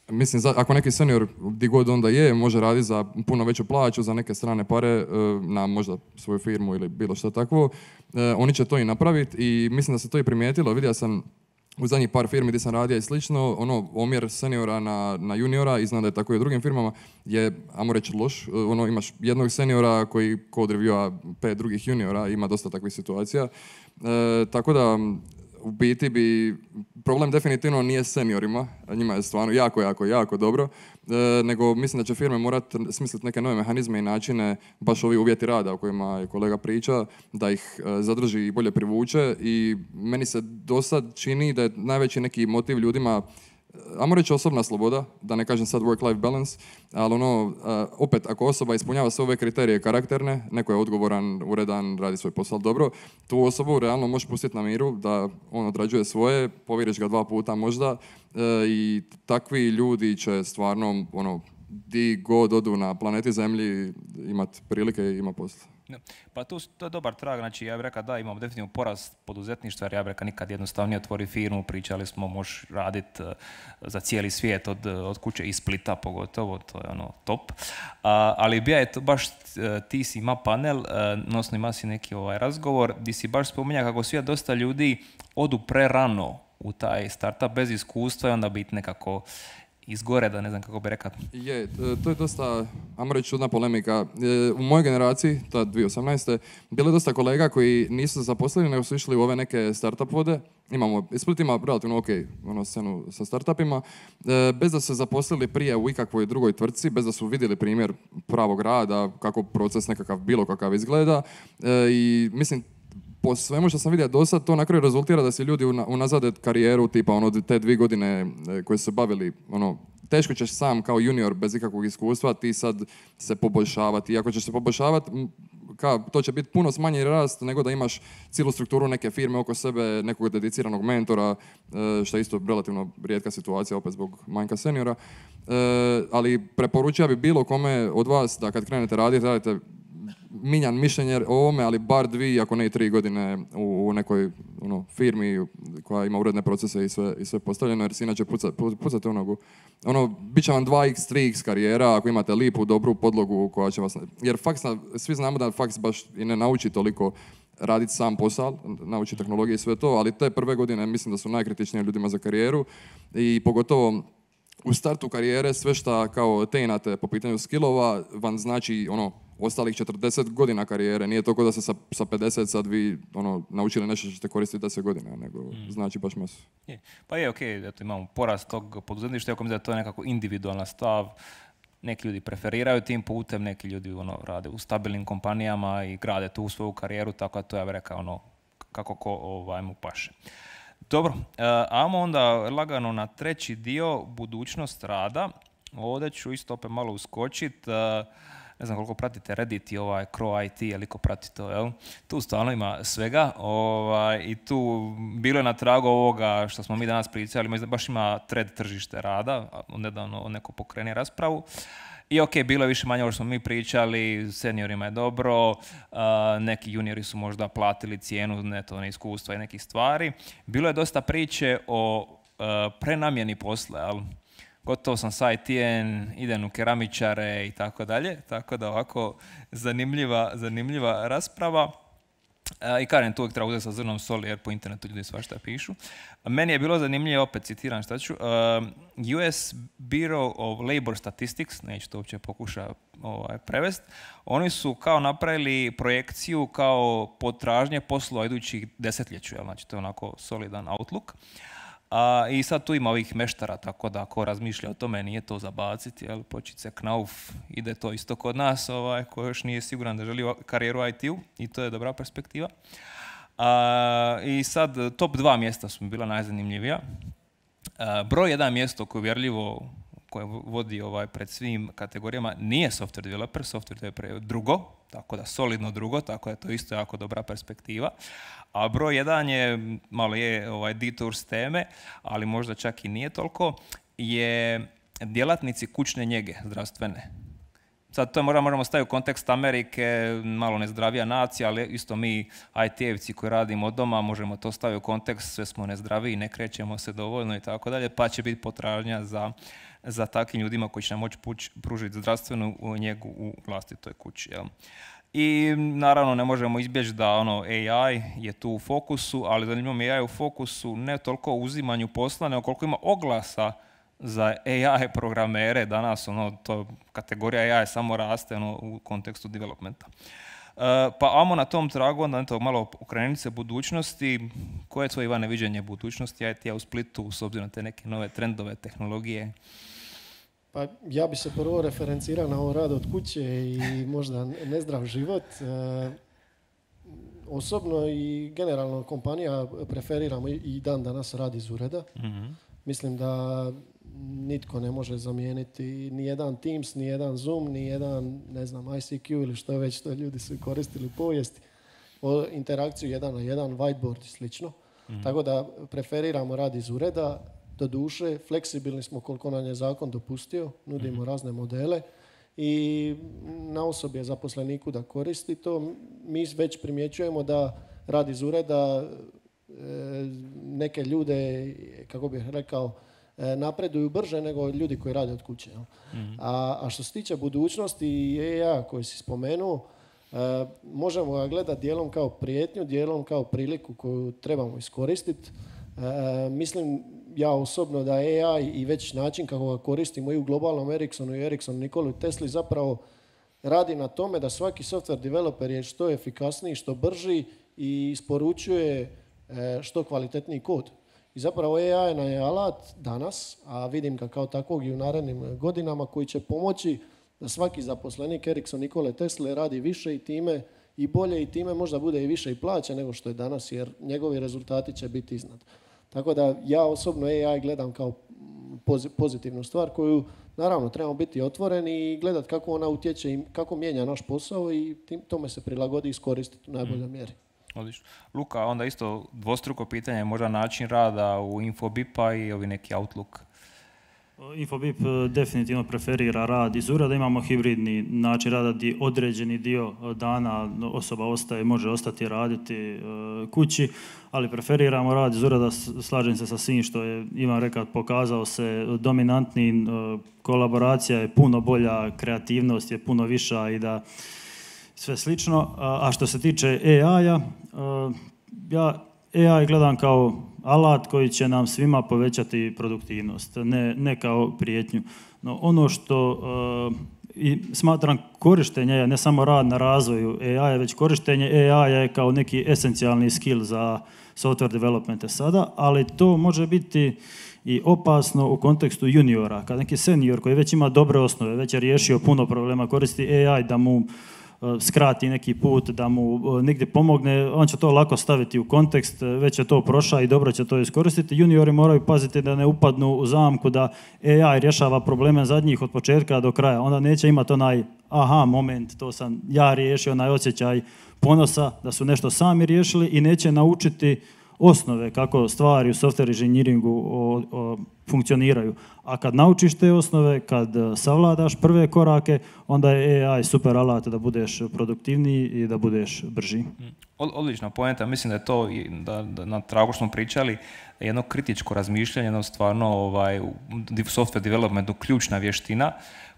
Speaker 5: mislim, ako neki senior gdje god onda je, može raditi za puno veću plaću, za neke strane pare, na možda svoju firmu ili bilo što takvo, oni će to i napraviti i mislim da se to i primijetilo. Vidio sam u zadnjih par firmi gdje sam radio i slično, omjer seniora na juniora, i znam da je tako i u drugim firmama, je, ajmo reći, loš. Imaš jednog seniora koji code reviewa 5 drugih juniora, ima dosta takvih situacija. Tako da, u biti bi, problem definitivno nije s seniorima, njima je stvarno jako dobro, nego mislim da će firme morati smisliti neke nove mehanizme i načine, baš ovi uvjeti rada o kojima je kolega priča, da ih zadrži i bolje privuče, i meni se dosad čini da je najveći neki motiv ljudima, ajmo reći, osobna sloboda, da ne kažem sad work-life balance, ali opet, ako osoba ispunjava sve ove kriterije karakterne, neko je odgovoran, uredan, radi svoj posao dobro, tu osobu realno možeš pustiti na miru da on odrađuje svoje, povjeriš ga 2 puta možda, i takvi ljudi će stvarno, di god odu na planeti Zemlji, imati prilike i ima posla.
Speaker 2: Pa to je dobar trag, znači ja bih rekao da imamo definitivno porast poduzetništva, jer ja bih rekao nikad jednostavnije otvori firmu, pričali smo možeš raditi za cijeli svijet od kuće iz Splita pogotovo, to je top. Ali bija je to baš, ti si ima panel, odnosno ima si neki razgovor, gdje si baš spominja kako svijet dosta ljudi odu prerano u taj startup bez iskustva i onda biti nekako izgore, da ne znam kako bi rekao.
Speaker 5: Je, to je dosta, ajmo reći, čudna polemika. U mojoj generaciji, ta 2018. bilo je dosta kolega koji nisu se zaposlili, nego su išli u ove neke startup vode. Split ima relativno ok scenu sa startupima, bez da su se zaposlili prije u ikakvoj drugoj tvrtci, bez da su vidjeli primjer pravog rada, kako proces nekakav bilo kakav izgleda. I mislim, po svemu što sam vidio do sad, to na kraju rezultira da se ljudi unazade karijeru, tipa te 2 godine koje su se bavili, teško ćeš sam kao junior bez ikakvog iskustva ti sad se poboljšavati. I ako ćeš se poboljšavati, to će biti puno smanji rast nego da imaš cijelu strukturu neke firme oko sebe, nekog dediciranog mentora, što je isto relativno rijetka situacija, opet zbog manjka seniora. Ali preporučio bi bilo kome od vas da kad krenete radite minjan mišljenje o ovome, ali bar 2, ako ne i 3 godine u nekoj firmi koja ima uredne procese i sve postavljeno, jer si inače pucate u nogu. Bit će vam 2x, 3x karijera ako imate lipu, dobru podlogu koja će vas... Jer svi znamo da faks baš i ne nauči toliko raditi sam posao, nauči tehnologije i sve to, ali te prve godine mislim da su najkritičnije ljudima za karijeru, i pogotovo u startu karijere sve što kao teinate po pitanju skillova vam znači ostalih 40 godina karijere. Nije to kao da se sa 50 sad vi naučili nešto što ćete koristiti 10 godina, nego znači baš masu.
Speaker 2: Pa je, okej, eto, imamo porast tog poduzetništva, ako mislim da to je nekako individualan stav. Neki ljudi preferiraju tim putem, neki ljudi rade u stabilnim kompanijama i grade tu svoju karijeru, tako da to ja bih rekao kako ko mu paše. Dobro, ajmo onda lagano na treći dio, budućnost rada. Ovdje ću isto opet malo uskočiti. Ne znam koliko pratite Reddit i Crow IT, ili ko prati to, jel? Tu stvarno ima svega i tu bilo je na tragu ovoga što smo mi danas pričali, baš ima thread tržište rada, nedavno neko pokrene raspravu. I ok, bilo je više manje ovo što smo mi pričali, seniorima je dobro, neki juniori su možda platili cijenu iskustva i nekih stvari. Bilo je dosta priče o prenamjeni posla, ali gotovo sam sa IT-em, idem u keramičare i tako dalje, tako da ovako zanimljiva rasprava. I Karen tu uvijek treba uzeti sa zrnom soli jer po internetu ljudi svašta pišu. Meni je bilo zanimljivo, opet citiram šta ću, US Bureau of Labor Statistics, neću to uopće pokušati prevesti, oni su kao napravili projekciju kao potražnje poslova idućih desetljeću, znači to je onako solidan outlook. I sad tu ima ovih meštara, tako da ako razmišlja o tome nije to zabaciti, počice Knauf, ide to isto kod nas, ko još nije siguran da želi karijeru u IT-u i to je dobra perspektiva. I sad top 2 mjesta su mi bila najzanimljivija. Broj 1 mjesto koje uvjerljivo koje vodi pred svim kategorijama nije software developer je drugo, tako da solidno drugo, tako da to je isto jako dobra perspektiva. A broj 1 je, malo je detour s teme, ali možda čak i nije toliko, je djelatnici kućne njege zdravstvene. Sad to možemo staviti u kontekst Amerike, malo nezdravija nacija, ali isto mi IT-evci koji radimo od doma možemo to staviti u kontekst, sve smo nezdraviji, ne krećemo se dovoljno i tako dalje, pa će biti potražnja za takvim ljudima koji će nam moći pružiti zdravstvenu njegu u vlastitoj kući. Jel? I naravno ne možemo izbjeći da AI je tu u fokusu, ali zanimljivo mi je AI u fokusu ne toliko u uzimanju posla, nego koliko ima oglasa za AI programere. Danas kategorija AI samo raste u kontekstu developmenta. Pa ajmo na tom tragu, onda malo okreniti se budućnosti. Koje je tvoje, Ivane, viđenje budućnosti IT-a u Splitu s obzirom na te neke nove trendove, tehnologije?
Speaker 3: Pa ja bi se prvo referencirao na ovo rad od kuće i možda nezdrav život. Osobno i generalno kompanija preferiramo i dan danas rad iz ureda. Mm-hmm. Mislim da nitko ne može zamijeniti ni jedan Teams, ni jedan Zoom, ni jedan, ne znam, ICQ ili što je već što ljudi su koristili u povijesti. Interakciju 1 na 1, whiteboard i slično. Mm-hmm. Tako da preferiramo rad iz ureda. Do duše, fleksibilni smo koliko nam je zakon dopustio, nudimo razne modele i na osobi je zaposleniku da koristi to. Mi već primjećujemo da rad iz ureda neke ljude, kako bih rekao, napreduju brže nego ljudi koji rade od kuće. Mm-hmm. A što se tiče budućnosti i AI koji si spomenuo, možemo ga gledati dijelom kao prijetnju, dijelom kao priliku koju trebamo iskoristiti. Mislim ja osobno da AI i već način kako ga koristimo i u globalnom Ericssonu i Ericssonu Nikoli Tesli zapravo radi na tome da svaki software developer je što efikasniji, što brži i isporučuje što kvalitetniji kod. I zapravo AI je alat danas, a vidim ga kao takvog i u narednim godinama, koji će pomoći da svaki zaposlenik Ericsson Nikole Tesle radi više i time i bolje i time možda bude i više i plaća nego što je danas, jer njegovi rezultati će biti iznad. Tako da ja osobno AI gledam kao pozitivnu stvar koju naravno trebamo biti otvoreni i gledati kako ona utječe i kako mijenja naš posao i tome se prilagodi i iskoristiti u najboljoj mjeri.
Speaker 2: Odlično. Luka, onda isto dvostruko pitanje, možda način rada u Infobip-a i ovi neki Outlook.
Speaker 4: Infobip definitivno preferira rad iz ureda, imamo hibridni način rada gdje određeni dio dana osoba može ostati raditi kući, ali preferiramo rad iz ureda, slažem se sa svim što je Ivan rekao, pokazao se dominantnim, kolaboracija je puno bolja, kreativnost je puno viša i da sve slično. A što se tiče AI-a, ja AI gledam kao alat koji će nam svima povećati produktivnost, ne kao prijetnju. No, ono što smatram korištenje, ne samo rad na razvoju AI, već korištenje AI je kao neki esencijalni skill za software developmente sada, ali to može biti i opasno u kontekstu juniora. Kad neki senior koji već ima dobre osnove, već je riješio puno problema, koristi AI da mu skrati neki put, da mu nigdje pomogne, on će to lako staviti u kontekst, već je to prošao i dobro će to iskoristiti. Juniori moraju paziti da ne upadnu u zamku da AI rješava probleme zadnjih od početka do kraja. Onda neće imati onaj aha moment, to sam ja riješio, onaj osjećaj ponosa da su nešto sami riješili i neće naučiti osnove kako stvari u software inženjeringu funkcioniraju. A kad naučiš te osnove, kad savladaš prve korake, onda je AI super alat da budeš produktivniji i da budeš brži.
Speaker 2: Odlična poenta, mislim da je to, da na tragu što smo pričali, jedno kritičko razmišljanje, jedno stvarno software developmentu ključna vještina,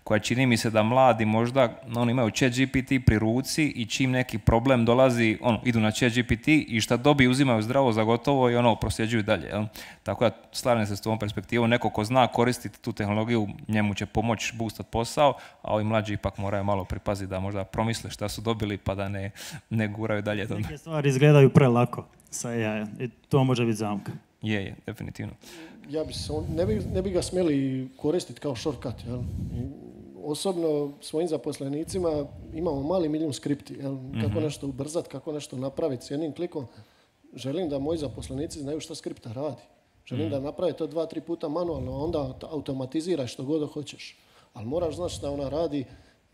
Speaker 2: koja čini mi se da mladi možda imaju ChatGPT pri ruci i čim neki problem dolazi, idu na ChatGPT i šta dobiju uzimaju zdravo za gotovo i prosljeđuju dalje. Tako da slažem se s tom perspektivom, neko ko zna koristiti tu tehnologiju, njemu će pomoći boostat posao, a ovi mlađi ipak moraju malo pripaziti da možda promisle šta su dobili pa da ne guraju dalje.
Speaker 4: Neke stvari izgledaju prelako sa AI i to može biti zamka.
Speaker 2: Je, definitivno.
Speaker 3: Ne bi ga smjeli koristiti kao shortcut. Jel? Osobno svojim zaposlenicima imamo mali milijun skripti. Jel? Kako nešto ubrzati, kako nešto napraviti s jednim klikom. Želim da moji zaposlenici znaju što skripta radi. Želim da naprave to 2-3 puta manualno, a onda automatiziraj što god hoćeš. Ali moraš znati što ona radi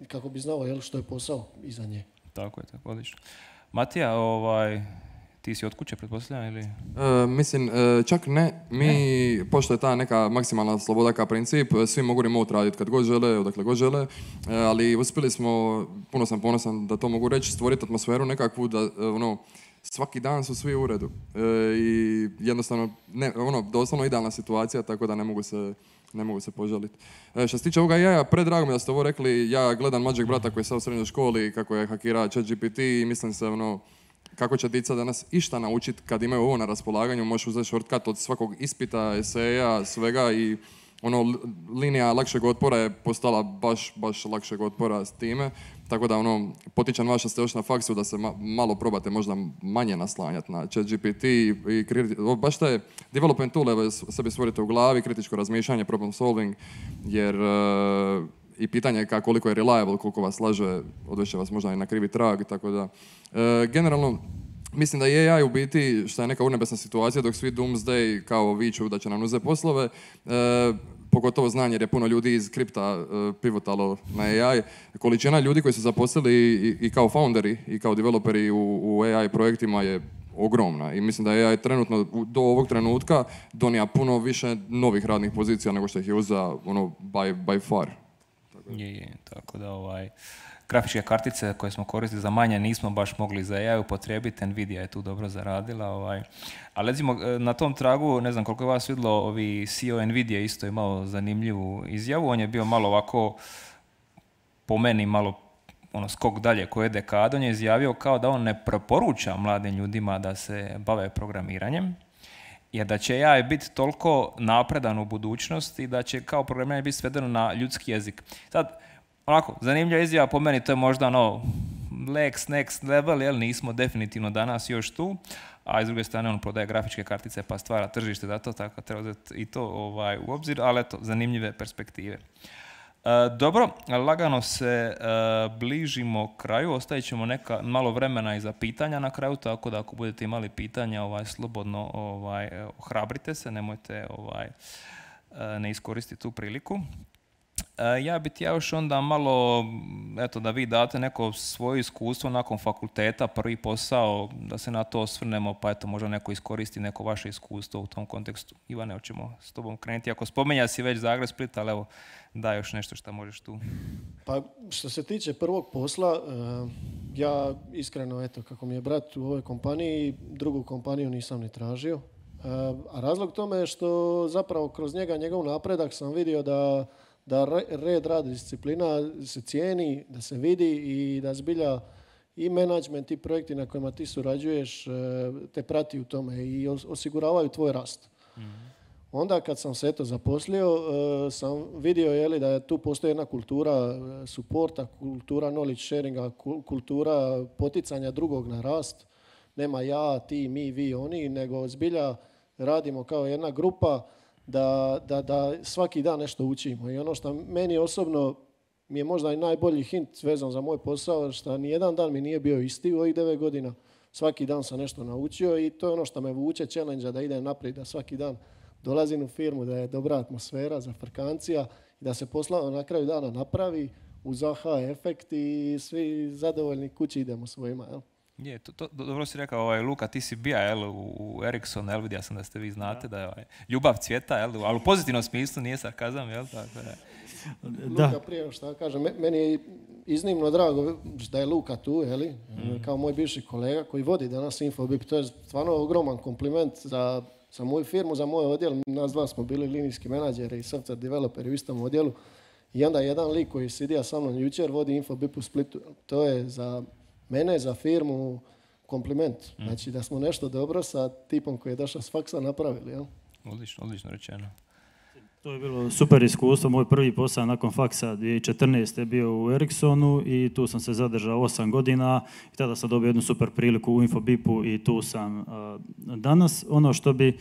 Speaker 3: kako bi znao što je posao iza nje.
Speaker 2: Tako je, odlično. Matija, ti si od kuće, pretpostavljam, ili?
Speaker 5: Mislim, čak ne. Pošto je ta neka maksimalna sloboda kao princip, svi mogu remote raditi kad god žele, odakle god žele, ali uspjeli smo, puno sam ponosan da to mogu reći, stvoriti atmosferu nekakvu da, svaki dan su svi u uredu. I jednostavno, doslovno idealna situacija, tako da ne mogu se požaliti. Što se tiče ovoga jaja, predrago mi da ste ovo rekli, ja gledam mlađeg brata koji je sad u srednjoj školi, kako je hakirao ChatGPT i mislim se, kako će djeca danas išta naučiti kad imaju ovo na raspolaganju, možeš uzeti shortcut od svakog ispita, eseja, svega i linija lakšeg otpora je postala baš lakšeg otpora s time, tako da potičem vas što ste još na faksu da se malo probate možda manje naslanjati na ChatGPT i baš te development tool sebi stvorite u glavi, kritičko razmišljanje, problem solving, jer i pitanje je koliko je reliable, koliko vas laže, odveće vas možda i na krivi trag, tako da generalno mislim da je AI u biti, što je neka urnebesna situacija, dok svi doomsday kao viču da će nam uzeti poslove, pogotovo znanje jer je puno ljudi iz kripta pivotalo na AI. Količina ljudi koji su zaposlili i kao founderi i kao developeri u AI projektima je ogromna i mislim da je AI trenutno do ovog trenutka donija puno više novih radnih pozicija nego što ih je uzeo by far.
Speaker 2: Tako da grafičke kartice koje smo koristili za manje nismo baš mogli za AI upotrijebiti, Nvidia je tu dobro zaradila. Ali recimo na tom tragu, ne znam koliko je vas vidjelo, CEO Nvidia isto imao zanimljivu izjavu, on je bio malo ovako, po meni malo skok dalje koje dekade, on je izjavio kao da on ne preporuča mladim ljudima da se bave programiranjem, jer da će AI biti toliko napredan u budućnosti da će kao programiranje biti svedeno na ljudski jezik. Sad, zanimljiva izjava po meni, to je možda next level, jer nismo definitivno danas još tu, a s druge strane on prodaje grafičke kartice pa stvara tržište za to, tako treba uzeti i to u obzir, ali eto, zanimljive perspektive. Dobro, lagano se bližimo kraju, ostavit ćemo malo vremena i za pitanja na kraju, tako da ako budete imali pitanja, slobodno ohrabrite se, nemojte ne iskoristiti tu priliku. Ja bih još onda malo, da vi date neko svoje iskustvo nakon fakulteta, prvi posao, da se na to osvrnemo, pa možda neko iskoristi neko vaše iskustvo u tom kontekstu. Ivane, hoćemo s tobom krenuti. Ako spomenja si već Zagreb, Split, ali evo, daj još nešto što možeš tu.
Speaker 3: Pa što se tiče prvog posla, ja iskreno, kako mi je brat u ovoj kompaniji, drugu kompaniju nisam ni tražio. A razlog tome je što zapravo kroz njegov napredak sam vidio da red, rad, disciplina se cijeni, da se vidi i da zbilja i menadžment i projekti na kojima ti surađuješ te prati u tome i osiguravaju tvoj rast. Onda kad sam se zaposlio, sam vidio da tu postoji jedna kultura suporta, kultura knowledge sharinga, kultura poticanja drugog na rast. Nema ja, ti, mi, vi, oni, nego zbilja radimo kao jedna grupa da svaki dan nešto učimo. I ono što meni osobno mi je možda i najbolji hint vezan za moj posao, što nijedan dan mi nije bio isti u ovih 9 godina. Svaki dan sam nešto naučio i to je ono što me vuče challenge da idem naprijed, da svaki dan dolazim u firmu, da je dobra atmosfera za frkancija i da se posla na kraju dana napravi uz aha efekt i svi zadovoljni kući idemo svojima. Jel?
Speaker 2: Je, dobro si rekao, Luka, ti si bija u Ericsson, vidio sam da ste vi znate da je ljubav cvjeta, ali u pozitivnom smislu, nije sarkazam, jel? Tako da.
Speaker 3: Luka, prije što kažem, meni je iznimno drago da je Luka tu, kao moj bivši kolega koji vodi danas Infobip. To je stvarno ogroman kompliment za moju firmu, za moj odjel. Nas dva smo bili linijski menadžeri i software developeri u istom odjelu. I onda jedan lik koji sidija sa mnom jučer vodi Infobip u Splitu. To je za mene, za firmu, kompliment. Znači da smo nešto dobro sa tipom koji je došao s faksa napravili. Jel?
Speaker 2: Odlično rečeno.
Speaker 4: To je bilo super iskustvo. Moj prvi posao nakon faksa 2014. je bio u Ericssonu i tu sam se zadržao 8 godina i tada sam dobio jednu super priliku u Infobipu i tu sam danas. Ono što bi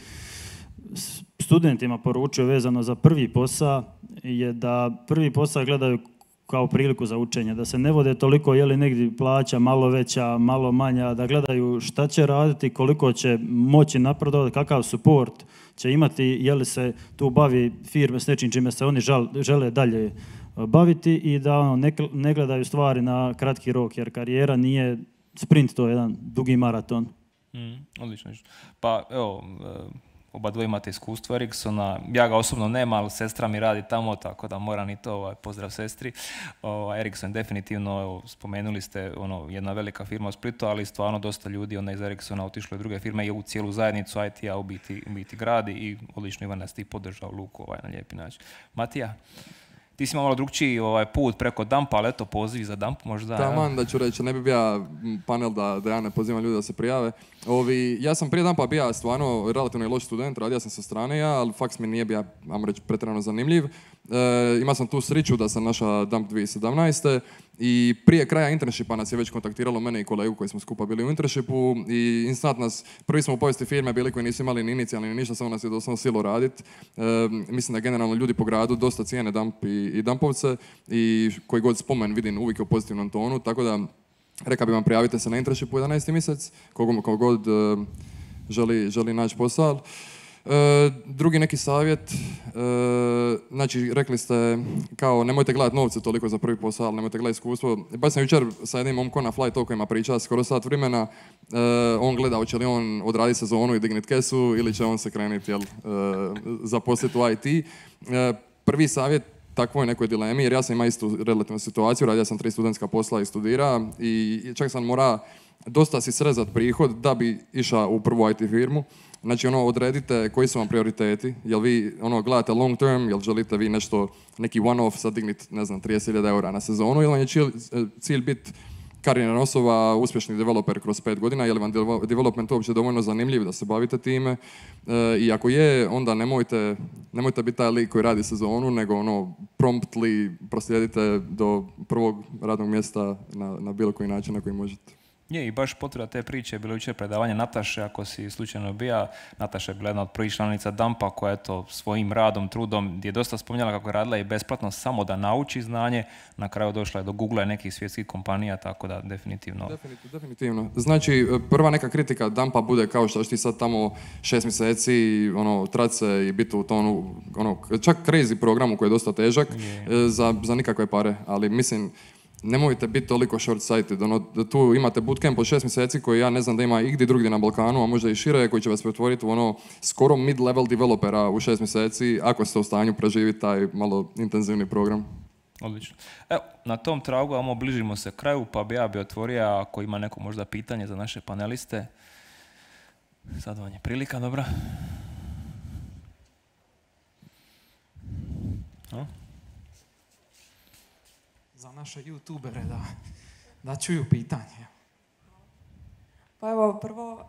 Speaker 4: studentima poručio vezano za prvi posao je da prvi posao gledaju kao priliku za učenje, da se ne vode toliko je li negdje plaća malo veća, malo manja, da gledaju šta će raditi, koliko će moći napredovati, kakav suport će imati, je li se tu bavi firme s nečim čime se oni žele dalje baviti i da ne gledaju stvari na kratki rok, jer karijera nije sprint, to je jedan dugi maraton.
Speaker 2: Odlično. Pa evo, oba dvoje imate iskustvo Ericssona, ja ga osobno nema, ali sestra mi radi tamo, tako da moram i to, pozdrav sestri. Ericsson definitivno, evo, spomenuli ste, jedna velika firma u Splitu, ali stvarno dosta ljudi onda iz Ericssona otišlo u druge firme i u cijelu zajednicu IT-a u biti gradi i odlično Ivan nas ti podržao Luku na lijepi način. Matija? Ti si imao malo drugčiji put preko Dumpa, ali eto, poziv za Dump možda.
Speaker 5: Taman da ću reći, ne bi bio panel da ja ne pozivam ljudi da se prijave. Ja sam prije Dumpa bio stvarno relativno loš student, radio sam sa strane ali faks mi nije bio, ajmo reći, pretjerano zanimljiv. Imao sam tu sreću da sam našao Dump 2017. I prije kraja internshipa nas je već kontaktiralo mene i kolegu koji smo skupa bili u internshipu i instant nas, prvi smo u povijesti firme bili koji nisu imali ni inicijalni ni ništa, samo nas je doslovno silo raditi. Mislim da generalno ljudi po gradu dosta cijene Dump i Dumpovce i koji god spomen vidim uvijek u pozitivnom tonu, tako da rekao bi vam prijavite se na internshipu 11. mjesec, kogo god želi naći posao. Drugi neki savjet, znači rekli ste kao nemojte gledati novce toliko za prvi posao, ali nemojte gledati iskustvo. Baš sam jučer sa jednim momkom na Fly Talkovima pričao skoro sat vremena, on gleda hoće li on odraditi sezonu i dignit kesu ili će on se krenuti zaposliti u IT. Prvi savjet takvoj nekoj dilemi, jer ja sam imao istu relativnu situaciju, radio sam 3 studentska posla i studira i čak sam mora dosta si srezat prihod da bi išao u prvu IT firmu. Znači, odredite koji su vam prioriteti, jel vi gledate long term, jel želite vi neki one-off sad dignit, ne znam, 30.000 eura na sezonu, ili vam je cilj biti karijerna osoba, uspješni developer kroz 5 godina, je li vam development uopće dovoljno zanimljiv da se bavite time, i ako je, onda nemojte biti taj lik koji radi sezonu, nego promptly proslijedite do prvog radnog mjesta na bilo koji način na koji možete.
Speaker 2: Je, i baš potvrda te priče je bilo jučer predavanje Nataše, ako si slučajno bija. Nataša je bila jedna od prvih članica Dumpa koja je svojim radom, trudom, gdje je dosta spominjala kako je radila i besplatno samo da nauči znanje. Na kraju došla je do Google i nekih svjetskih kompanija, tako da definitivno.
Speaker 5: Definitivno. Znači, prva neka kritika Dumpa bude kao što ti sad tamo 6 mjeseci trace i biti u tonu, čak crazy programu koji je dosta težak za nikakve pare, ali mislim, nemojte biti toliko short-sighted. Tu imate bootcamp od 6 mjeseci koji ja ne znam da ima igdje drugdje na Balkanu, a možda i šire, koji će vas pretvoriti u skoro mid-level developera u 6 mjeseci, ako ste u stanju preživjeti taj malo intenzivni program.
Speaker 2: Odlično. Evo, na tom tragu, bližimo se kraju, pa bi ja otvorio, ako ima neko možda pitanje za naše paneliste. Sad vam je prilika, dobra.
Speaker 1: Za naše youtubere da čuju pitanje.
Speaker 6: Pa evo, prvo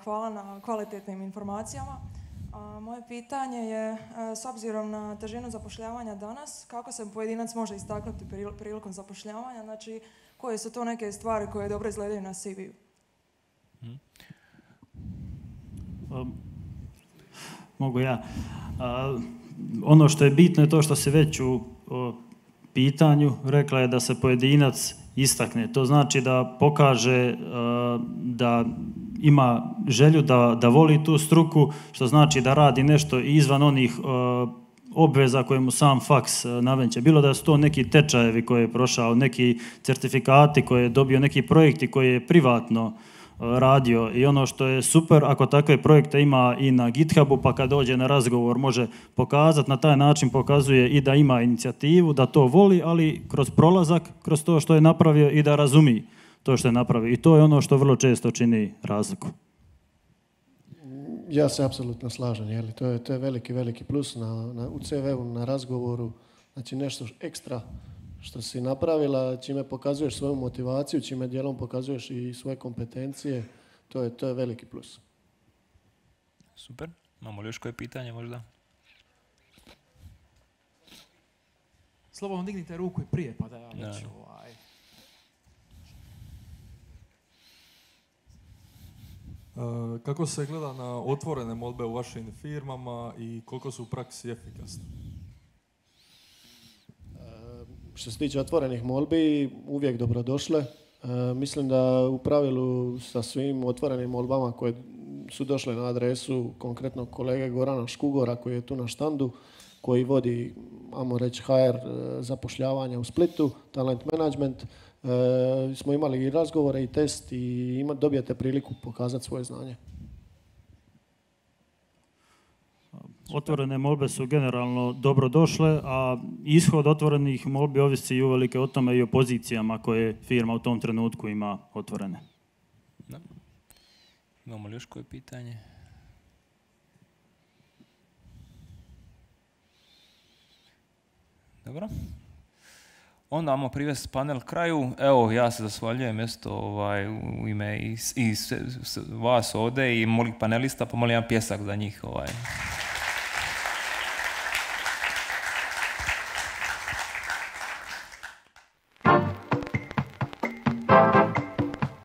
Speaker 6: hvala na kvalitetnim informacijama. Moje pitanje je, s obzirom na težinu zapošljavanja danas, kako se pojedinac može istaknuti prilikom zapošljavanja, znači koje su to neke stvari koje dobro izgledaju na CV-u?
Speaker 4: Mogu ja. Ono što je bitno je to što se već u pitanju rekla je da se pojedinac istakne. To znači da pokaže da ima želju da voli tu struku, što znači da radi nešto izvan onih obveza koje mu sam faks nameće. Bilo da su to neki tečajevi koje je prošao, neki certifikati koje je dobio, neki projekti koje je privatno radio. I ono što je super, ako takve projekte ima i na GitHubu, pa kad dođe na razgovor može pokazati, na taj način pokazuje i da ima inicijativu, da to voli, ali kroz prolazak, kroz to što je napravio i da razumi to što je napravio. I to je ono što vrlo često čini razliku.
Speaker 3: Ja se apsolutno slažem, jeli? To je veliki, veliki plus u CV-u, na razgovoru. Znači nešto ekstra što si napravila, čime pokazuješ svoju motivaciju, čime dijelom pokazuješ i svoje kompetencije, to je veliki plus.
Speaker 2: Super. Imamo li još koje pitanje možda?
Speaker 1: Slobodno dignite ruku i prije, pa da ja već
Speaker 7: Kako se gleda na otvorene molbe u vašim firmama i koliko su u praksi efikasne?
Speaker 3: Što se tiče otvorenih molbi, uvijek dobrodošle. Mislim da u pravilu sa svim otvorenim molbama koje su došle na adresu konkretno kolege Gorana Škugora koji je tu na štandu, koji vodi, ajmo reći, HR zapošljavanja u Splitu, talent management, smo imali i razgovore i test i dobijate priliku pokazati svoje znanje.
Speaker 4: Otvorene molbe su generalno dobro došle, a ishod otvorenih molbi ovisi i uvelike o tome i o pozicijama koje firma u tom trenutku ima otvorene.
Speaker 2: Da. Imamo li još koje pitanje? Dobro. Onda ćemo privesti panel kraju. Evo, ja se zahvaljujem u ime i vas ovdje i molih panelista, pa molim jedan pjesak za njih.